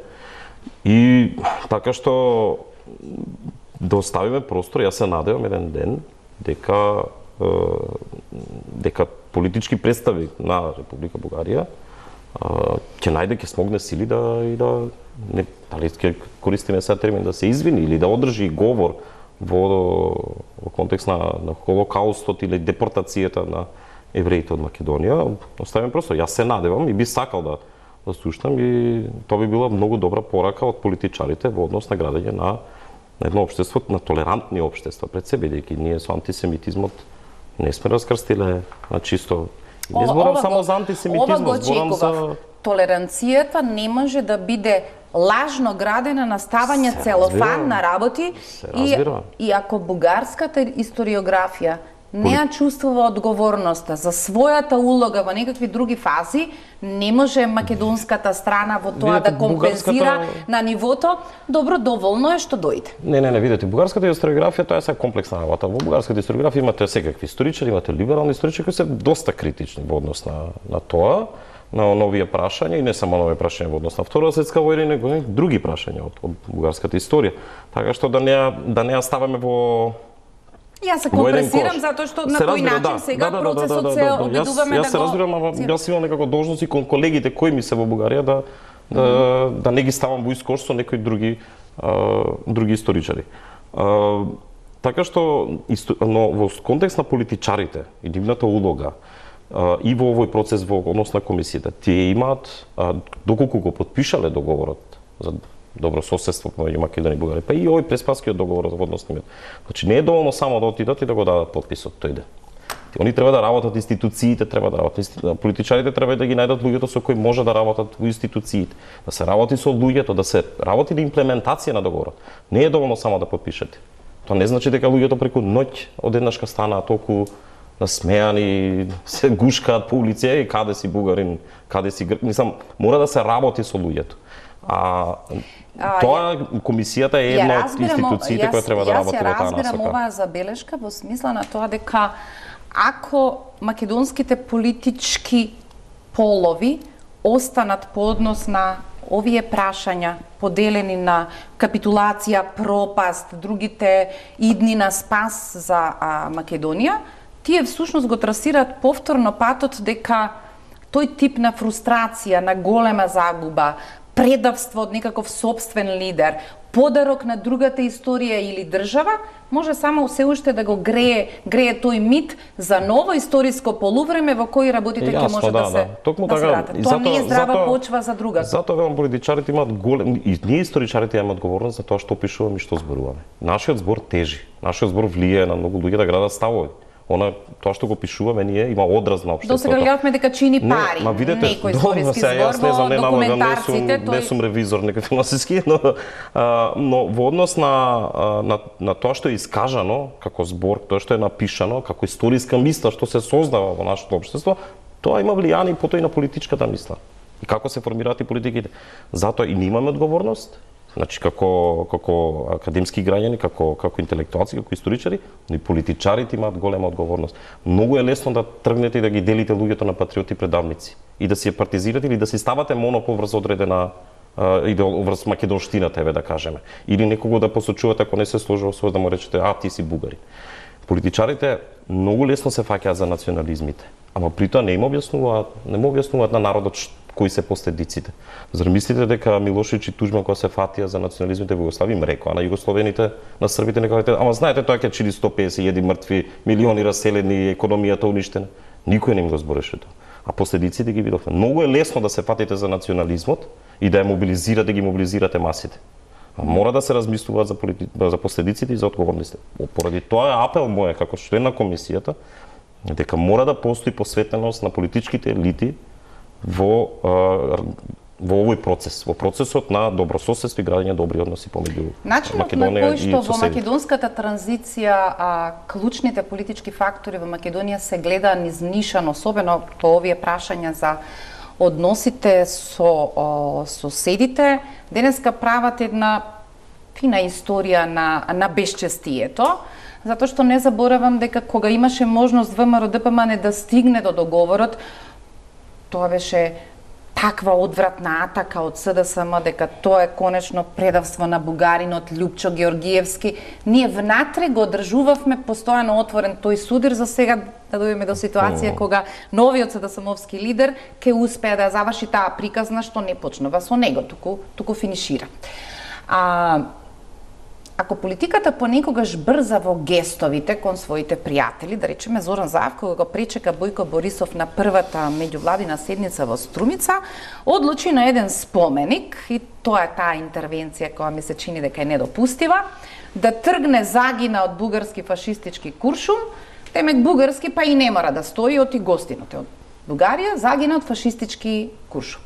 и така што да оставиме простор, јас се надевам еден ден дека е, дека политички представи на Република Бугарија ќе најде, ќе смогне сили да и да не дали ќе користиме сега термин да се извини или да одржи говор во во контекст на на Холокаустот или депортацијата на евреите од Македонија. Оставиме просто, јас се надевам и би сакал да да слушнам и тоа би била многу добра порака од политичарите во однос на градење на едно општество, на толерантни општества пред себе, бидејќи ние со антисемитизмот не сме раскрстиле на чисто. Не зборам само за антисемитизмот, зборам за толеранцијата не може да биде лажно градена на ставање целофан на работи и, и ако бугарската историографија не ја чувствува одговорноста за својата улога во некакви други фази, не може македонската страна во тоа видите, да компензира бугарската... на нивото, добро, доволно е што дојде. Не, не, не, видите, бугарската историографија тоа е се комплексна работа. Во бугарската историографија имате секакви историчари, имате либерални историчари кои се доста критични во однос на, на тоа, на нови прашања и не само нови прашања во однос на Втора светска војна, него и други прашања од, од бугарската историја. Така што да не да не ја ставаме во Јас се компресирам затоа што на кој начин да, сега да, да, процесот да, да, да, се да, да, обидуваме јас, јас да го... Јас се разбирам, ама јас имам некако должности кон колегите кои ми се во Бугарија да да, mm-hmm. да не ги ставам во искош со некои други а, други историчари. А, така што но во контекст на политичарите и нивната улога а, и во овој процес во однос на комисијата, тие имаат а, доколку го подпишале договорот за добро соседство помеѓу Македонија и Бугарија, па и овој преспанскиот договор во однос на мир. Значи не е доволно само да отидат и да го дадат потписот, тој иде. Они треба да работат, институциите треба да работат, политичарите треба да ги најдат луѓето со кои може да работат во институциите, да се работи со луѓето, да се работи на имплементација на договорот. Не е доволно само да потпишете. Тоа не значи дека луѓето преку ноќ одеднашка станаат толку насмеани, се гушкаат по улици, и каде си бугарин, каде си грк, мислам, мора да се работи со луѓето. А, тоа комисијата е една од институциите која треба да работи во таа насока. Јас ја разбирам оваа забелешка во смисла на тоа дека ако македонските политички полови останат по однос на овие прашања поделени на капитулација, пропаст, другите идни на спас за а, Македонија, тие всушност го трасираат повторно патот дека тој тип на фрустрација, на голема загуба, предавство од некаков собствен лидер, подарок на другата историја или држава, може само се уште да го грее, грее тој мит за ново историско полувреме во кој работите ќе може да, да се Токму така, тоа не е здрава зато, почва за другата. Затоа велам политичарите имаат голем и ние историчарите имаме одговорност за тоа што пишуваме и што зборуваме. Нашиот збор тежи, нашиот збор влијае на многу луѓе да градат ставови. Она тоа што го пишуваме ние има одраз на општеството. Досега гледавме дека чини пари. Ма видете, некој историски збор во документарците, тој не сум ревизор некој финансиски, но а, но во однос на, на на тоа што е искажано како збор, тоа што е напишано како историска мисла што се создава во нашето општество, тоа има влијание потоа и на политичката мисла. И како се формираат и политиките. Затоа и ние имаме одговорност. Значи како како академски граѓани, како како интелектуалци, како историчари, но и политичарите имаат голема одговорност. Многу е лесно да тргнете и да ги делите луѓето на патриоти и предавници и да си ја партизирате или да си ставате монопол врз одредена и да врз македонштината, еве да кажеме. Или некого да посочувате ако не се сложува со да му речете а ти си бугари. Политичарите многу лесно се фаќаат за национализмите, ама при тоа не им објаснуваат, не му објаснуваат на народот кои се последиците. Зар мислите дека Милошевич и Тужман кога се фатија за национализмите во Југославија им рекоа на југословените, на србите, нека кажете, ама знаете тоа ќе чили сто песет илјади мртви, милиони раселени, економијата уништена. Никој не им го збореше тоа. А последиците ги видовме. Многу е лесно да се фатите за национализмот и да ја мобилизирате, да ги мобилизирате масите. А мора да се размислуваат за, полити... за последиците и за одговорностите. Поради тоа е апел мој како член на комисијата дека мора да постои посветеност на политичките елити во во овој процес, во процесот на добрососедство и градење добри односи помеѓу Македонија и соседите. Начинот на кој што во македонската транзиција а, клучните политички фактори во Македонија се гледа низнишан, особено по овие прашања за односите со о, соседите, денеска прават една фина историја на на безчестието, затоа што не заборавам дека кога имаше можност ВМРО Д П М Н да стигне до договорот, тоа беше таква одвратна атака од С Д С М дека тоа е конечно предавство на бугаринот Љупчо Георгиевски. Ние внатре го одржувавме постојано отворен тој судир, за сега да дојдеме до ситуација кога новиот С Д С М-овски лидер ќе успее да заврши таа приказна што не почнува со него, туку туку финишира. А ако политиката понекогаш брза во гестовите кон своите пријатели, да речеме Зоран Заев кога го пречека Бојко Борисов на првата меѓувладина седница во Струмица, одлучи на еден споменик, и тоа е таа интервенција која ми се чини дека е недопустива, да тргне загина од бугарски фашистички куршум, темек бугарски па и не мора да стои од и гостиноте од Бугарија, загина од фашистички куршум.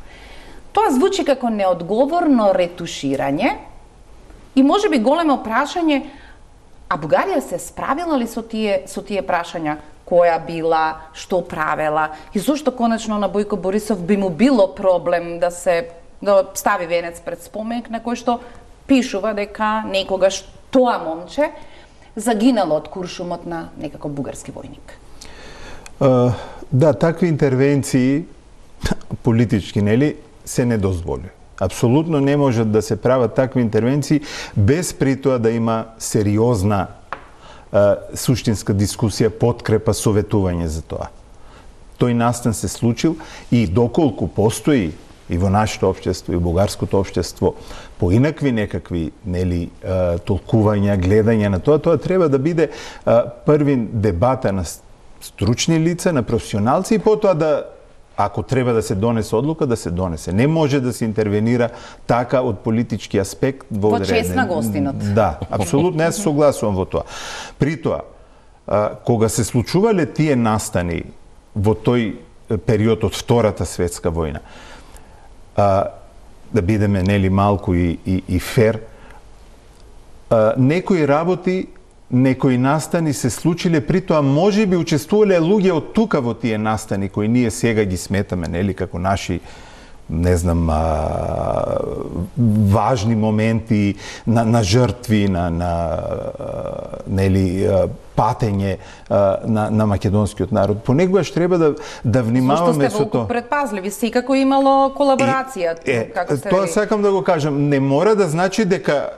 Тоа звучи како неодговорно ретуширање и може би големо прашање, а Бугарија се справила ли со тие со тие прашања? Која била, што правела и зошто конечно на Бојко Борисов би му било проблем да се да стави венец пред споменик на кој што пишува дека некогаш тоа момче загинало од куршумот на некако бугарски војник. Uh, да, такви интервенции политички, нели, се не дозволи. Апсолутно не можат да се прават такви интервенции без при тоа да има сериозна uh, суштинска дискусија, подкрепа, советување за тоа. Тој настан се случил и доколку постои и во нашето општество и бугарското општество поинакви некакви, нели, толкувања, гледања на тоа, тоа треба да биде првин дебата на стручни лица, на професионалци и потоа да, ако треба да се донесе одлука, да се донесе. Не може да се интервенира така од политички аспект во Во чест на гостинот. Да, апсолутно, јас согласувам во тоа. При тоа, кога се случувале тие настани во тој период од Втората светска војна, А, да бидеме, нели, малку и, и, и фер, а, некои работи, некои настани се случиле, при тоа може би учествувале луѓе од тука во тие настани, кои ние сега ги сметаме, нели, како наши, не знам, а, важни моменти на, на жртви, на, на нели, патење на, на македонскиот народ. Понекогаш треба да, да внимаваме со тоа. Зошто сте предпазливи, секако имало колаборација. Е, како сте тоа сакам да го кажам, не мора да значи дека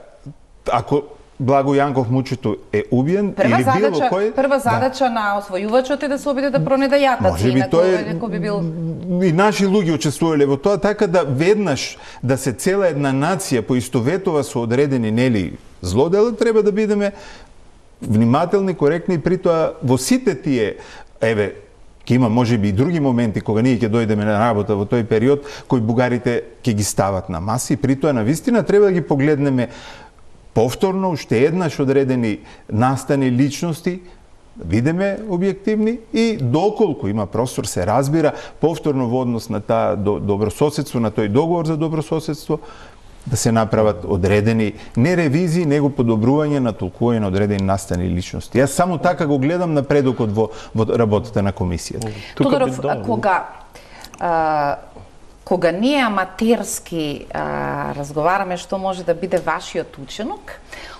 ако Благо Јанков Мучето е убиен прва или задача, било кој... Прва задача да. на освојувачот е да се обиде да пронеде јатаци. Може би тоа е... би бил... И наши луѓе учествувале во тоа, така да веднаш да се цела една нација поистоветува со одредени, нели, злодела, треба да бидеме внимателни, коректни, и при тоа во сите тие, еве, ќе има можеби и други моменти кога ние ќе дојдеме на работа во тој период, кои бугарите ќе ги стават на маси, и при тоа навистина треба да ги погледнеме повторно, уште еднаш одредени настани личности, видиме објективни и доколку има простор се разбира повторно во однос на таа добрососедство, на тој договор за добрососедство, да се направат одредени не ревизии, него подобрување на толкување на одредени настани личности. Јас само така го гледам напредокот во, во работата на комисијата. Тодоров, кога а, кога ние аматерски а, разговараме што може да биде вашиот ученок,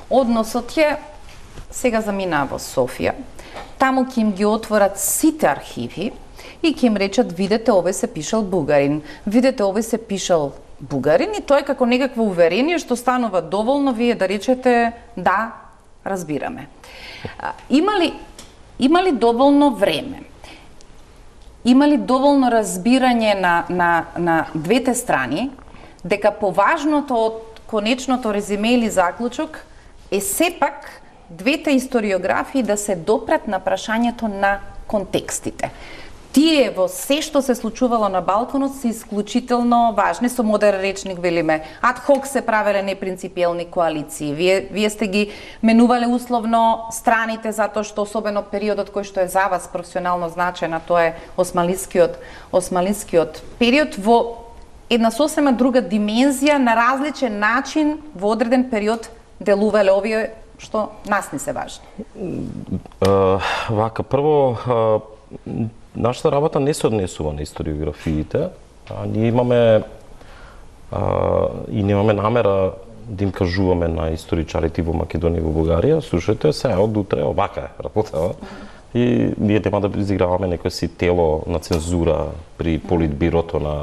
односот е сега заминаа во Софија, таму ќе им ги отворат сите архиви и ќе им речат видете овој се пишал бугарин, видете овој се пишал бугарин, и тоа е како некакво уверение што станува доволно вие да речете да, разбираме. А, има ли има ли доволно време? Има ли доволно разбирање на, на, на двете страни дека поважното од конечното резиме или заклучок е сепак двете историографии да се допрат на прашањето на контекстите? Тие во се што се случувало на Балканот се исклучително важни, со модерен речник велиме. Ад хок се правеле непринципиелни коалиции. Вие, вие сте ги менувале условно страните затоа што особено периодот кој што е за вас професионално значаен, тоа е османлискиот, османлискиот период, во една сосема друга димензија, на различен начин во одреден период делувале овие што нас не се важни. Uh, вака, прво, uh, нашата работа не се однесува на историографиите, а ние имаме а, и немаме намера да им кажуваме на историчарите во Македонија и во Бугарија, слушајте, се од утре овака е работа. И ние нема да изиграваме некој си тело на цензура при политбирото на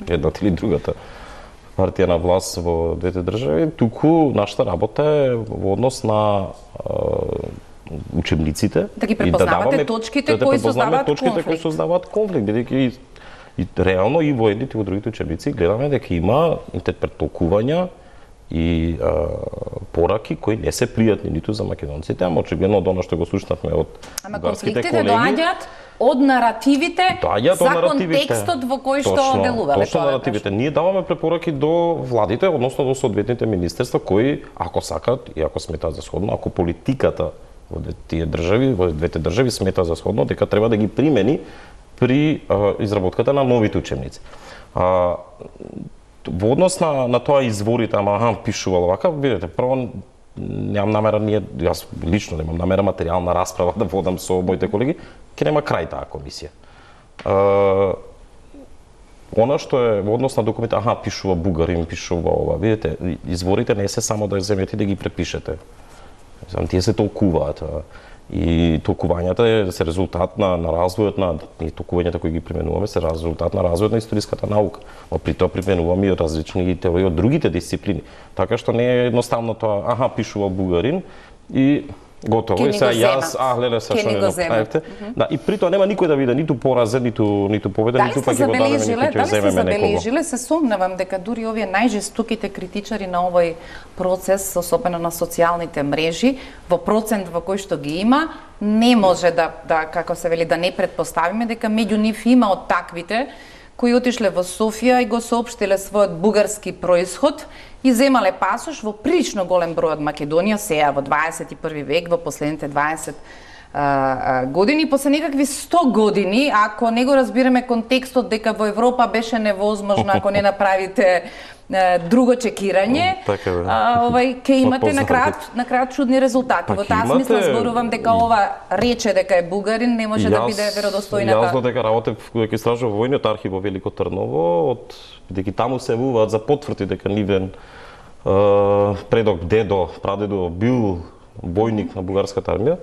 едната или другата партија на власт во двете држави, туку нашата работа е во однос на а, учебниците, да ги препознавате да даваме, точките да кои создаваат точките конфликт. кои создаваат конфликт, бидејќи и, и реално и во едните и во другите учебници гледаме дека има интерпретолкувања и а, пораки кои не се пријатни ниту за македонците, ама очигледно од она што го слушнавме од ама бугарските колеги. Ама конфликтите доаѓаат од наративите доаѓаат за од наративите. контекстот во кој што точно, делуваме. Точно наративите. Ние даваме препораки до владите, односно до соодветните министерства, кои, ако сакат и ако сметаат за сходно, ако политиката во тие држави, во двете држави смета за сходно, дека треба да ги примени при а, изработката на новите учебници. А, во однос на, на тоа изворите, ама аха, пишувал вака, видите, прво немам намера, ние, јас лично немам намера материјална расправа да водам со моите колеги, ќе нема крај таа комисија. Uh, Она што е во однос на документ, аха, пишува бугарин, пишува ова, видите, изворите не се само да ја земете да ги препишете. Знам, тие се толкуваат. И толкувањата се резултат на, на развојот на, и толкувањата кои ги применуваме се резултат на развојот на историската наука. Но при тоа применуваме и различни теории од другите дисциплини. Така што не е едноставно тоа, аха, пишува бугарин и готово. И сега јас, а, гледа се што не направите. Да, и при тоа нема никој да биде ниту поразен, ниту ниту победен, ниту пак ќе го дадеме, ниту ќе земеме некого. Дали се забележиле, се сомневам дека дури овие најжестоките критичари на овој процес, особено на социјалните мрежи, во процент во кој што ги има, не може да, да како се вели, да не предпоставиме дека меѓу нив има од таквите кои отишле во Софија и го соопштиле својот бугарски происход и земале пасош во прилично голем број од Македонија, сега во дваесет и први век, во последните дваесет а, а, години, после некакви сто години, ако не го разбираме контекстот дека во Европа беше невозможно ако не направите а, друго чекирање, така, а, овај ќе имате на крајот на крајот чудни резултати. Во таа имате... смисла зборувам дека ова рече дека е бугарин не може јас, да биде веродостојната. Јас дека работев дека истражував војниот архив во Велико Трново, од бидејќи таму се явуваат за потврди дека нивен предок, дедо, прадедо бил војник на бугарската армија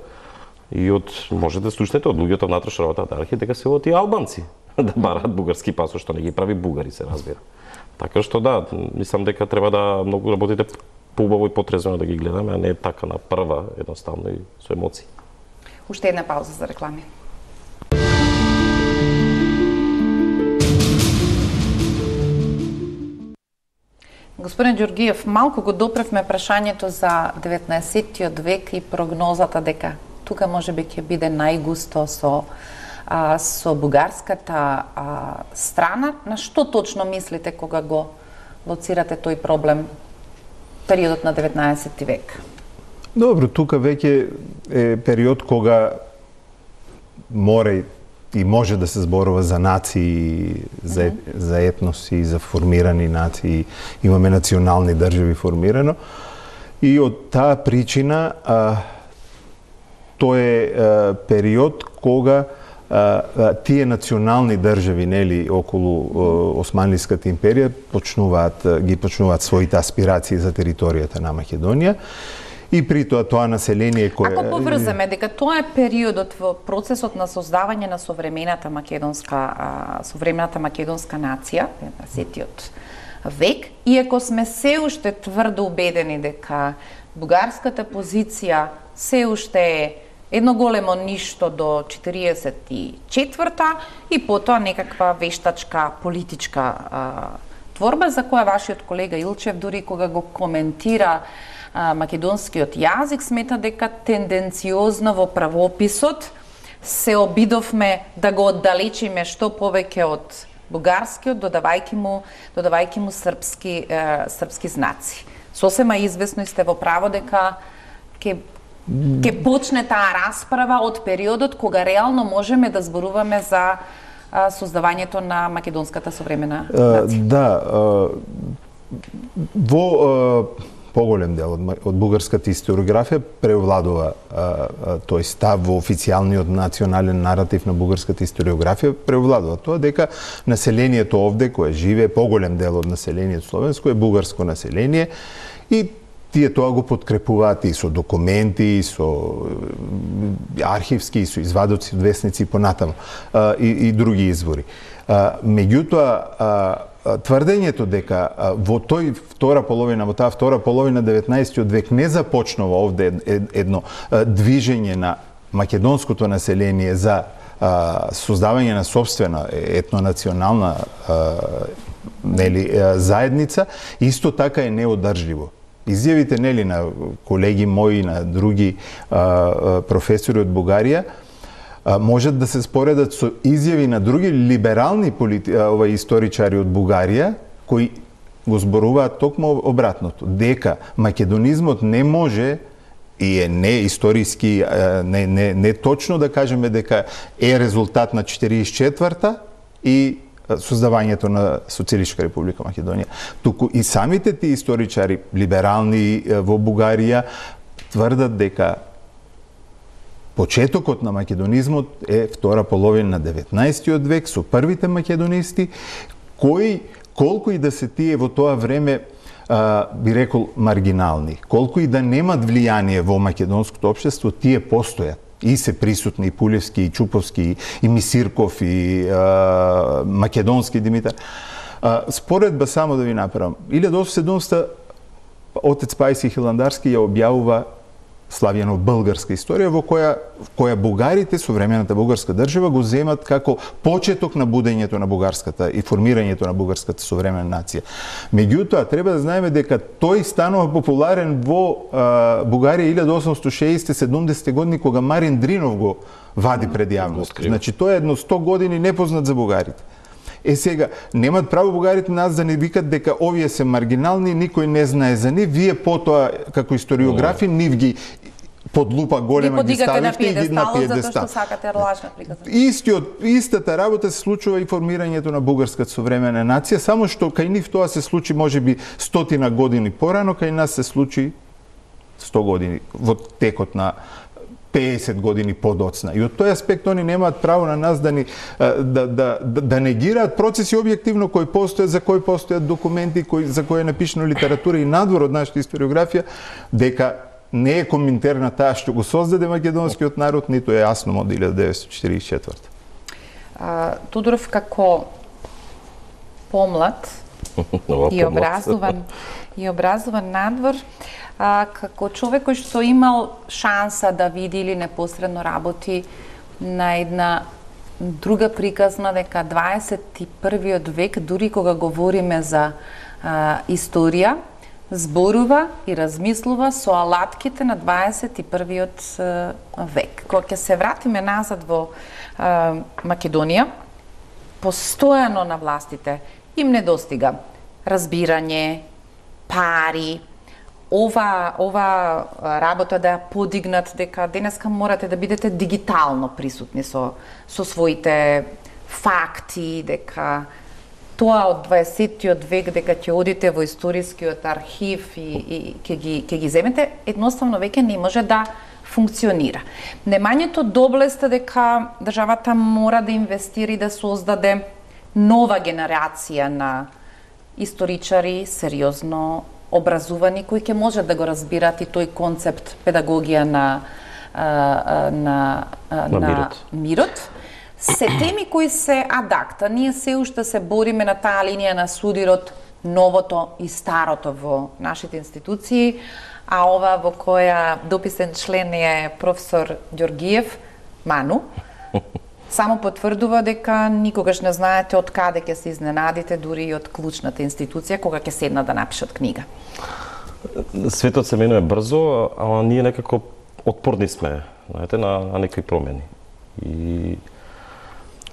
и од можете да слушнете од луѓето внатрешна работата архив дека се од и албанци да бараат бугарски пасош, што не ги прави бугари, се разбира. Така што да, мислам дека треба да многу работите поубаво и потрезвено да ги гледаме, а не така на прва, едноставно и со емоции. Уште една пауза за реклами. Господин Ѓоргиев, малку го допревме прашањето за деветнаесеттиот век и прогнозата дека тука можеби ќе биде најгусто со а, со бугарската а, страна. На што точно мислите кога го лоцирате тој проблем, периодот на деветнаесетти век? Добро, тука веќе е период кога мора и може да се зборува за нации, за, mm -hmm. за етноси, за формирани нации, имаме национални држави формирано. И од таа причина а, тој е а, период кога а, а, тие национални држави, нели, околу а, Османлиската империја почнуваат ги почнуваат своите аспирации за територијата на Македонија. И при тоа тоа население кое... Ако поврземе дека тоа е периодот во процесот на создавање на современата македонска современата македонска нација, деветнаесеттиот век, иако сме се уште тврдо убедени дека бугарската позиција се уште е едно големо ништо до четириесет и четврта и потоа некаква вештачка политичка а, творба за која вашиот колега Илчев дури кога го коментира македонскиот јазик смета дека тенденциозно во правописот се обидовме да го оддалечиме што повеќе од бугарскиот, додавајќи му додавајќи му српски е, српски знаци. Сосема извесно и сте во право дека ќе ќе почне таа расправа од периодот кога реално можеме да зборуваме за а, создавањето на македонската современа нација. Да, во поголем дел од, од бугарската историографија превладува а, а, тој став во официјалниот национален наратив на бугарската историографија, превладува тоа дека населението овде кое живее, поголем дел од населението словенско е бугарско население и тие тоа го подкрепуваат и со документи, и со архивски, и со извадоци од весници и понатаму, а, и, и други извори. А, меѓутоа, а, тврдењето дека во тој втора половина, во таа втора половина деветнаесеттиот век не започнува овде едно движење на македонското население за создавање на собствена етнонационална нели заедница, исто така е неодржливо. Изјавите нели на колеги мои, на други професори од Бугарија можат да се споредат со изјави на други либерални полити... ова, историчари од Бугарија, кои го зборуваат токму обратното, дека македонизмот не може и е не историски, не, не, не точно да кажеме дека е резултат на четириесет и четврта и создавањето на Социјалистичка република Македонија. Туку и самите тие историчари, либерални во Бугарија, тврдат дека почетокот на македонизмот е втора половина на деветнаесеттиот век со првите македонисти, кои, колку и да се тие во тоа време, а, би рекол, маргинални, колку и да немат влијание во македонското општество, тие постојат. И се присутни и Пулевски, и Чуповски, и Мисирков, и а, македонски Димитар. А, споредба само да ви направам. илјада осумстотини и седумдесета отец Пајси Хиландарски ја објавува славјено българска историја, во која, која бугарите, современата бугарска држава, го земат како почеток на будењето на бугарската и формирањето на бугарската современа нација. Меѓутоа, треба да знаеме дека тој станува популарен во а, Бугарија илјада осумстотини и шеесетте и седумдесетте години, кога Марин Дринов го вади пред јавност. Значи, тој е едно сто години непознат за бугарите. Е сега, немат право бугарите нас да не викат дека овие се маргинални, никој не знае за нив, вие потоа како историографи нив ги под лупа голема ги ставиште и ги на пиедестал. Затоа што сакате лажна приказна. Истиот, истата работа се случува и формирањето на бугарската современа нација, само што кај нив тоа се случи можеби стотина години порано, кај нас се случи сто години во текот на пеесет години подоцна. И од тој аспект они немаат право на нас да ни да да да, да негираат процеси објективно кои постојат, за кои постојат документи, кои за кои е напишана литература и надвор од нашата историографија, дека не е коминтерна таа што го создаде македонскиот народ, ниту е јасно од илјада деветстотини четиридесет и четврта. А, Тодоров како помлад и образован и образован надвор, а, како човек кој што имал шанса да види или непосредно работи на една друга приказна, дека дваесет и првиот век, дури кога говориме за а, историја, зборува и размислува со алатките на дваесет и првиот век. Кога ќе се вратиме назад во а, Македонија, постојано на властите им недостига разбирање, пари, ова ова работа да ја подигнат, дека денеска морате да бидете дигитално присутни со со своите факти, дека тоа од дваесеттиот век, дека ќе одите во историскиот архив и, и ќе ги ќе ги земете, едноставно веќе не може да функционира. Немањето доблеста дека државата мора да инвестира и да создаде нова генерација на историчари, сериозно образувани, кои ќе можат да го разбират и тој концепт педагогија на на, на, на мирот. мирот. Се теми кои се адакта. Ние се уште се бориме на таа линија на судирот, новото и старото во нашите институции, а ова во која дописен член е професор Ѓоргиев, Ману, само потврдува дека никогаш не знаете од каде ќе се изненадите, дури и од клучната институција, кога ќе седна да напишат книга. Светот се менува брзо, ама ние некако отпорни сме, знаете, на, на некои промени. И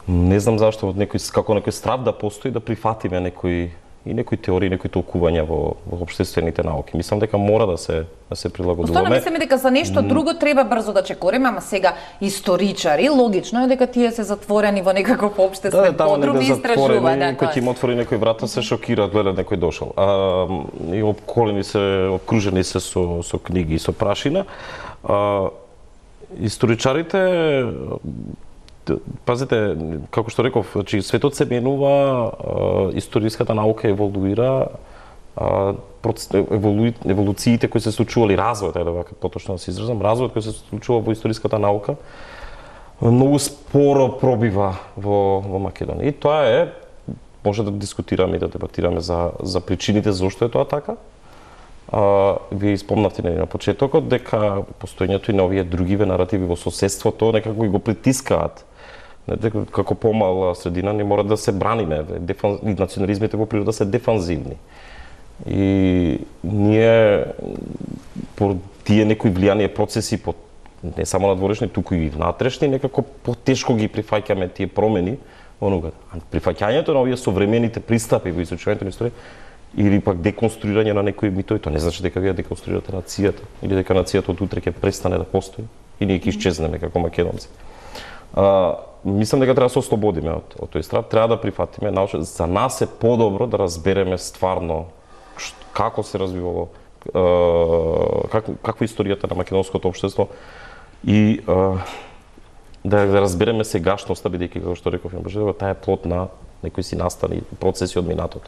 не знам зашто од некој како некој страв да постои да прифатиме некои и некои теории, некои толкувања во, во општествените науки. Мислам дека мора да се да се прилагодуваме. Останува мислиме дека за нешто друго треба брзо да чекориме, ама сега историчари, логично е дека тие се затворени во некаков општествен да, подрум и истражуваат. Да, кој ќе им отвори некој врата, се шокираат, гледат некој дошол. А, и обколени се, обкружени се со, со книги и со прашина. А, историчарите, пазите, како што реков, значи светот се менува, историската наука еволуира, еволу, еволуциите кои се случували, развојот, е да поточно да се изразам, развојот кој се случува во историската наука многу споро пробива во, во Македонија. И тоа е, може да дискутираме и да дебатираме за, за причините зошто е тоа така. А, вие спомнавте на почетокот дека постоењето и на овие другиве наративи во соседството некако го притискаат. Како помала средина не мора да се браниме, дефан... национализмите во природа се дефанзивни. И ние по тие некои влијание процеси по не само надворешни, туку и внатрешни, некако потешко ги прифаќаме тие промени онога. Прифаќањето на овие современите пристапи во изучувањето на историја или пак деконструирање на некои митови, тоа не значи дека вие деконструирате нацијата или дека нацијата од утре ќе престане да постои и ние ќе исчезнеме како македонци. А, мислам дека треба да се ослободиме од, од тој страв, треба да прифатиме научно. За нас е подобро да разбереме стварно ш, како се развивало, е, как, каква е историјата на македонското општество и е, да, да разбереме сегашноста, бидејќи, како што реков, таа е плод на некои си настани процеси од минатото.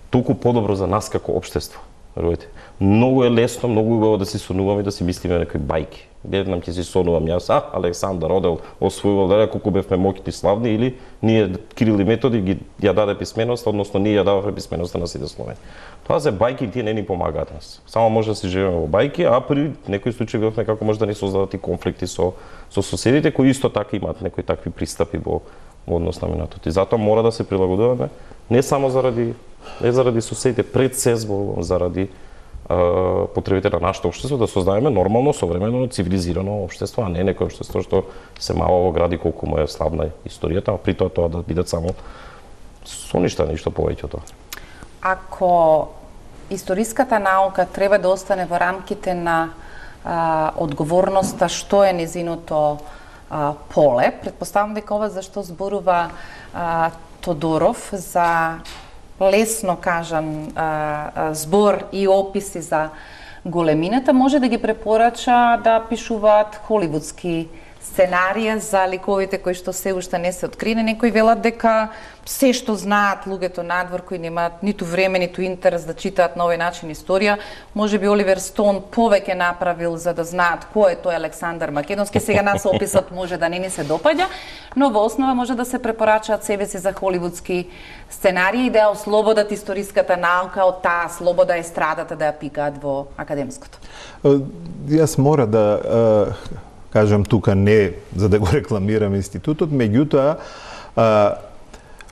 Толку подобро за нас како општество. Верувате. Многу е лесно, многу убаво да си сонуваме и да си мислиме некои бајки. Гледам ќе си сонувам јас, а Александар одел, освојувал, леле колку бевме моќни славни, или ние Кирил и Методи ги ја даде писменост, односно ние ја дававме писменоста на сите словени. Тоа се бајки, тие не ни помагаат нас. Само може да си живееме во бајки, а при некои случаи видовме како може да ни создадат и конфликти со со соседите кои исто така имаат некои такви пристапи во во однос на минатото. И затоа мора да се прилагодуваме не само заради не заради соседите, пред се заради е, потребите на нашето општество, да создаваме нормално, современо, цивилизирано општество, а не некој општество што се мало во гради колку му е славна историјата, а при тоа тоа да бидат само соништа, ништо повеќе од тоа. Ако историската наука треба да остане во рамките на а, одговорноста што е низиното а, поле, предпоставам дека ова зашто зборува а, Тодоров за лесно кажан а, збор и описи за големината, може да ги препорача да пишуваат холивудски сценарија за ликовите кои што се уште не се открини. Некои велат дека се што знаат луѓето надвор кои немаат ниту време, ниту интерес да читаат на овој начин историја, може би Оливер Стоун повеќе направил за да знаат кој е тој Александар Македонски. Сега нас описот може да не ни се допаѓа, но во основа може да се препорачаат себе си за холивудски сценарии и да ја ослободат историската наука од таа слобода и страдата да ја пикаат во академското. Јас мора да кажам тука не за да го рекламирам институтот, меѓутоа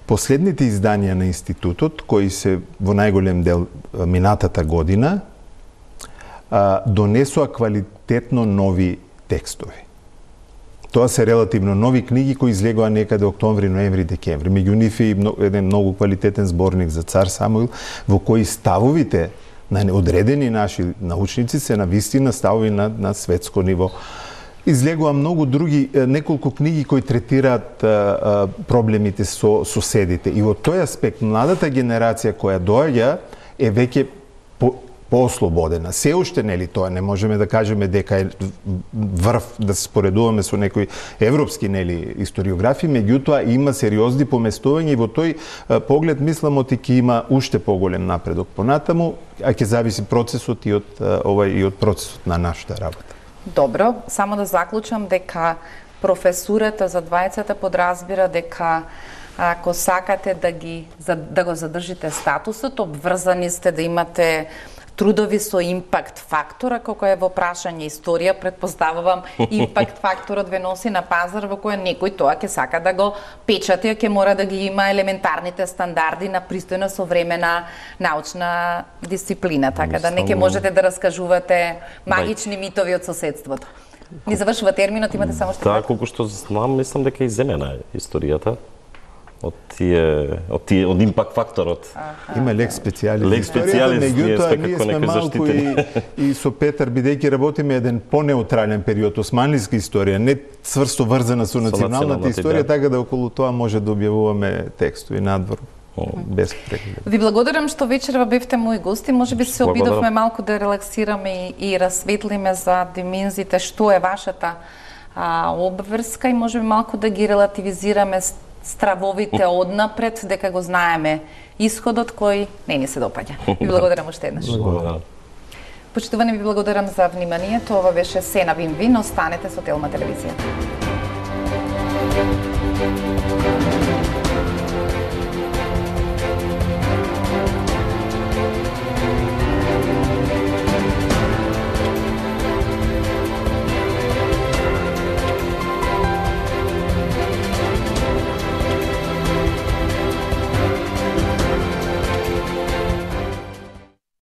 последните изданија на институтот, кои се во најголем дел минатата година, донесоа квалитетно нови текстови. Тоа се релативно нови книги кои излегоа некаде октомври, ноември, декември. Меѓу нив е еден многу квалитетен зборник за цар Самуил, во кои ставовите на одредени наши научници се на вистина ставови на, на светско ниво. Излегува многу други, неколку книги кои третираат а, а, проблемите со соседите. И во тој аспект, младата генерација која доаѓа е веќе по, поослободена. Се уште, нели, тоа не можеме да кажеме дека е врв да се споредуваме со некои европски, нели, историографи, меѓутоа има сериозни поместувања и во тој а, поглед мислам оти ќе има уште поголем напредок понатаму, а ќе зависи процесот и од а, овај и од процесот на нашата работа. Добро, само да заклучам дека професурата за двајцата подразбира дека ако сакате да ги да го задржите статусот, обврзани сте да имате трудови со импакт фактора, како е во прашање историја, предпоставувам импакт факторот ве носи на пазар во кој некој тоа ќе сака да го печати, ќе мора да ги има елементарните стандарди на пристојна современа научна дисциплина, така да не ќе можете да раскажувате магични митови од соседството. Ни завршува терминот, имате само што. Да, колку што знам, мислам дека е иземена историјата од тие од тие од импакт факторот. Има лекс специјалист. Лекс специјалист, ние сме како некои заштитени. И, и со Петар, бидејќи работиме еден понеутрален период, османлиска историја, не цврсто врзана со националната историја, да. Така да околу тоа може да објавуваме текстови надвор. Без преглед. Ви благодарам што вечерва бевте мои гости. Може би се обидовме малку да релаксираме и, и расветлиме за димензите што е вашата а, обврска и може би малку да ги релативизираме стравовите однапред, дека го знаеме исходот кој не ни се допаѓа. Ви благодарам уште еднаш. Благодарам. Почитувани, ви благодарам за вниманието. Ова беше се на Вин-Вин. Останете со Телма телевизија.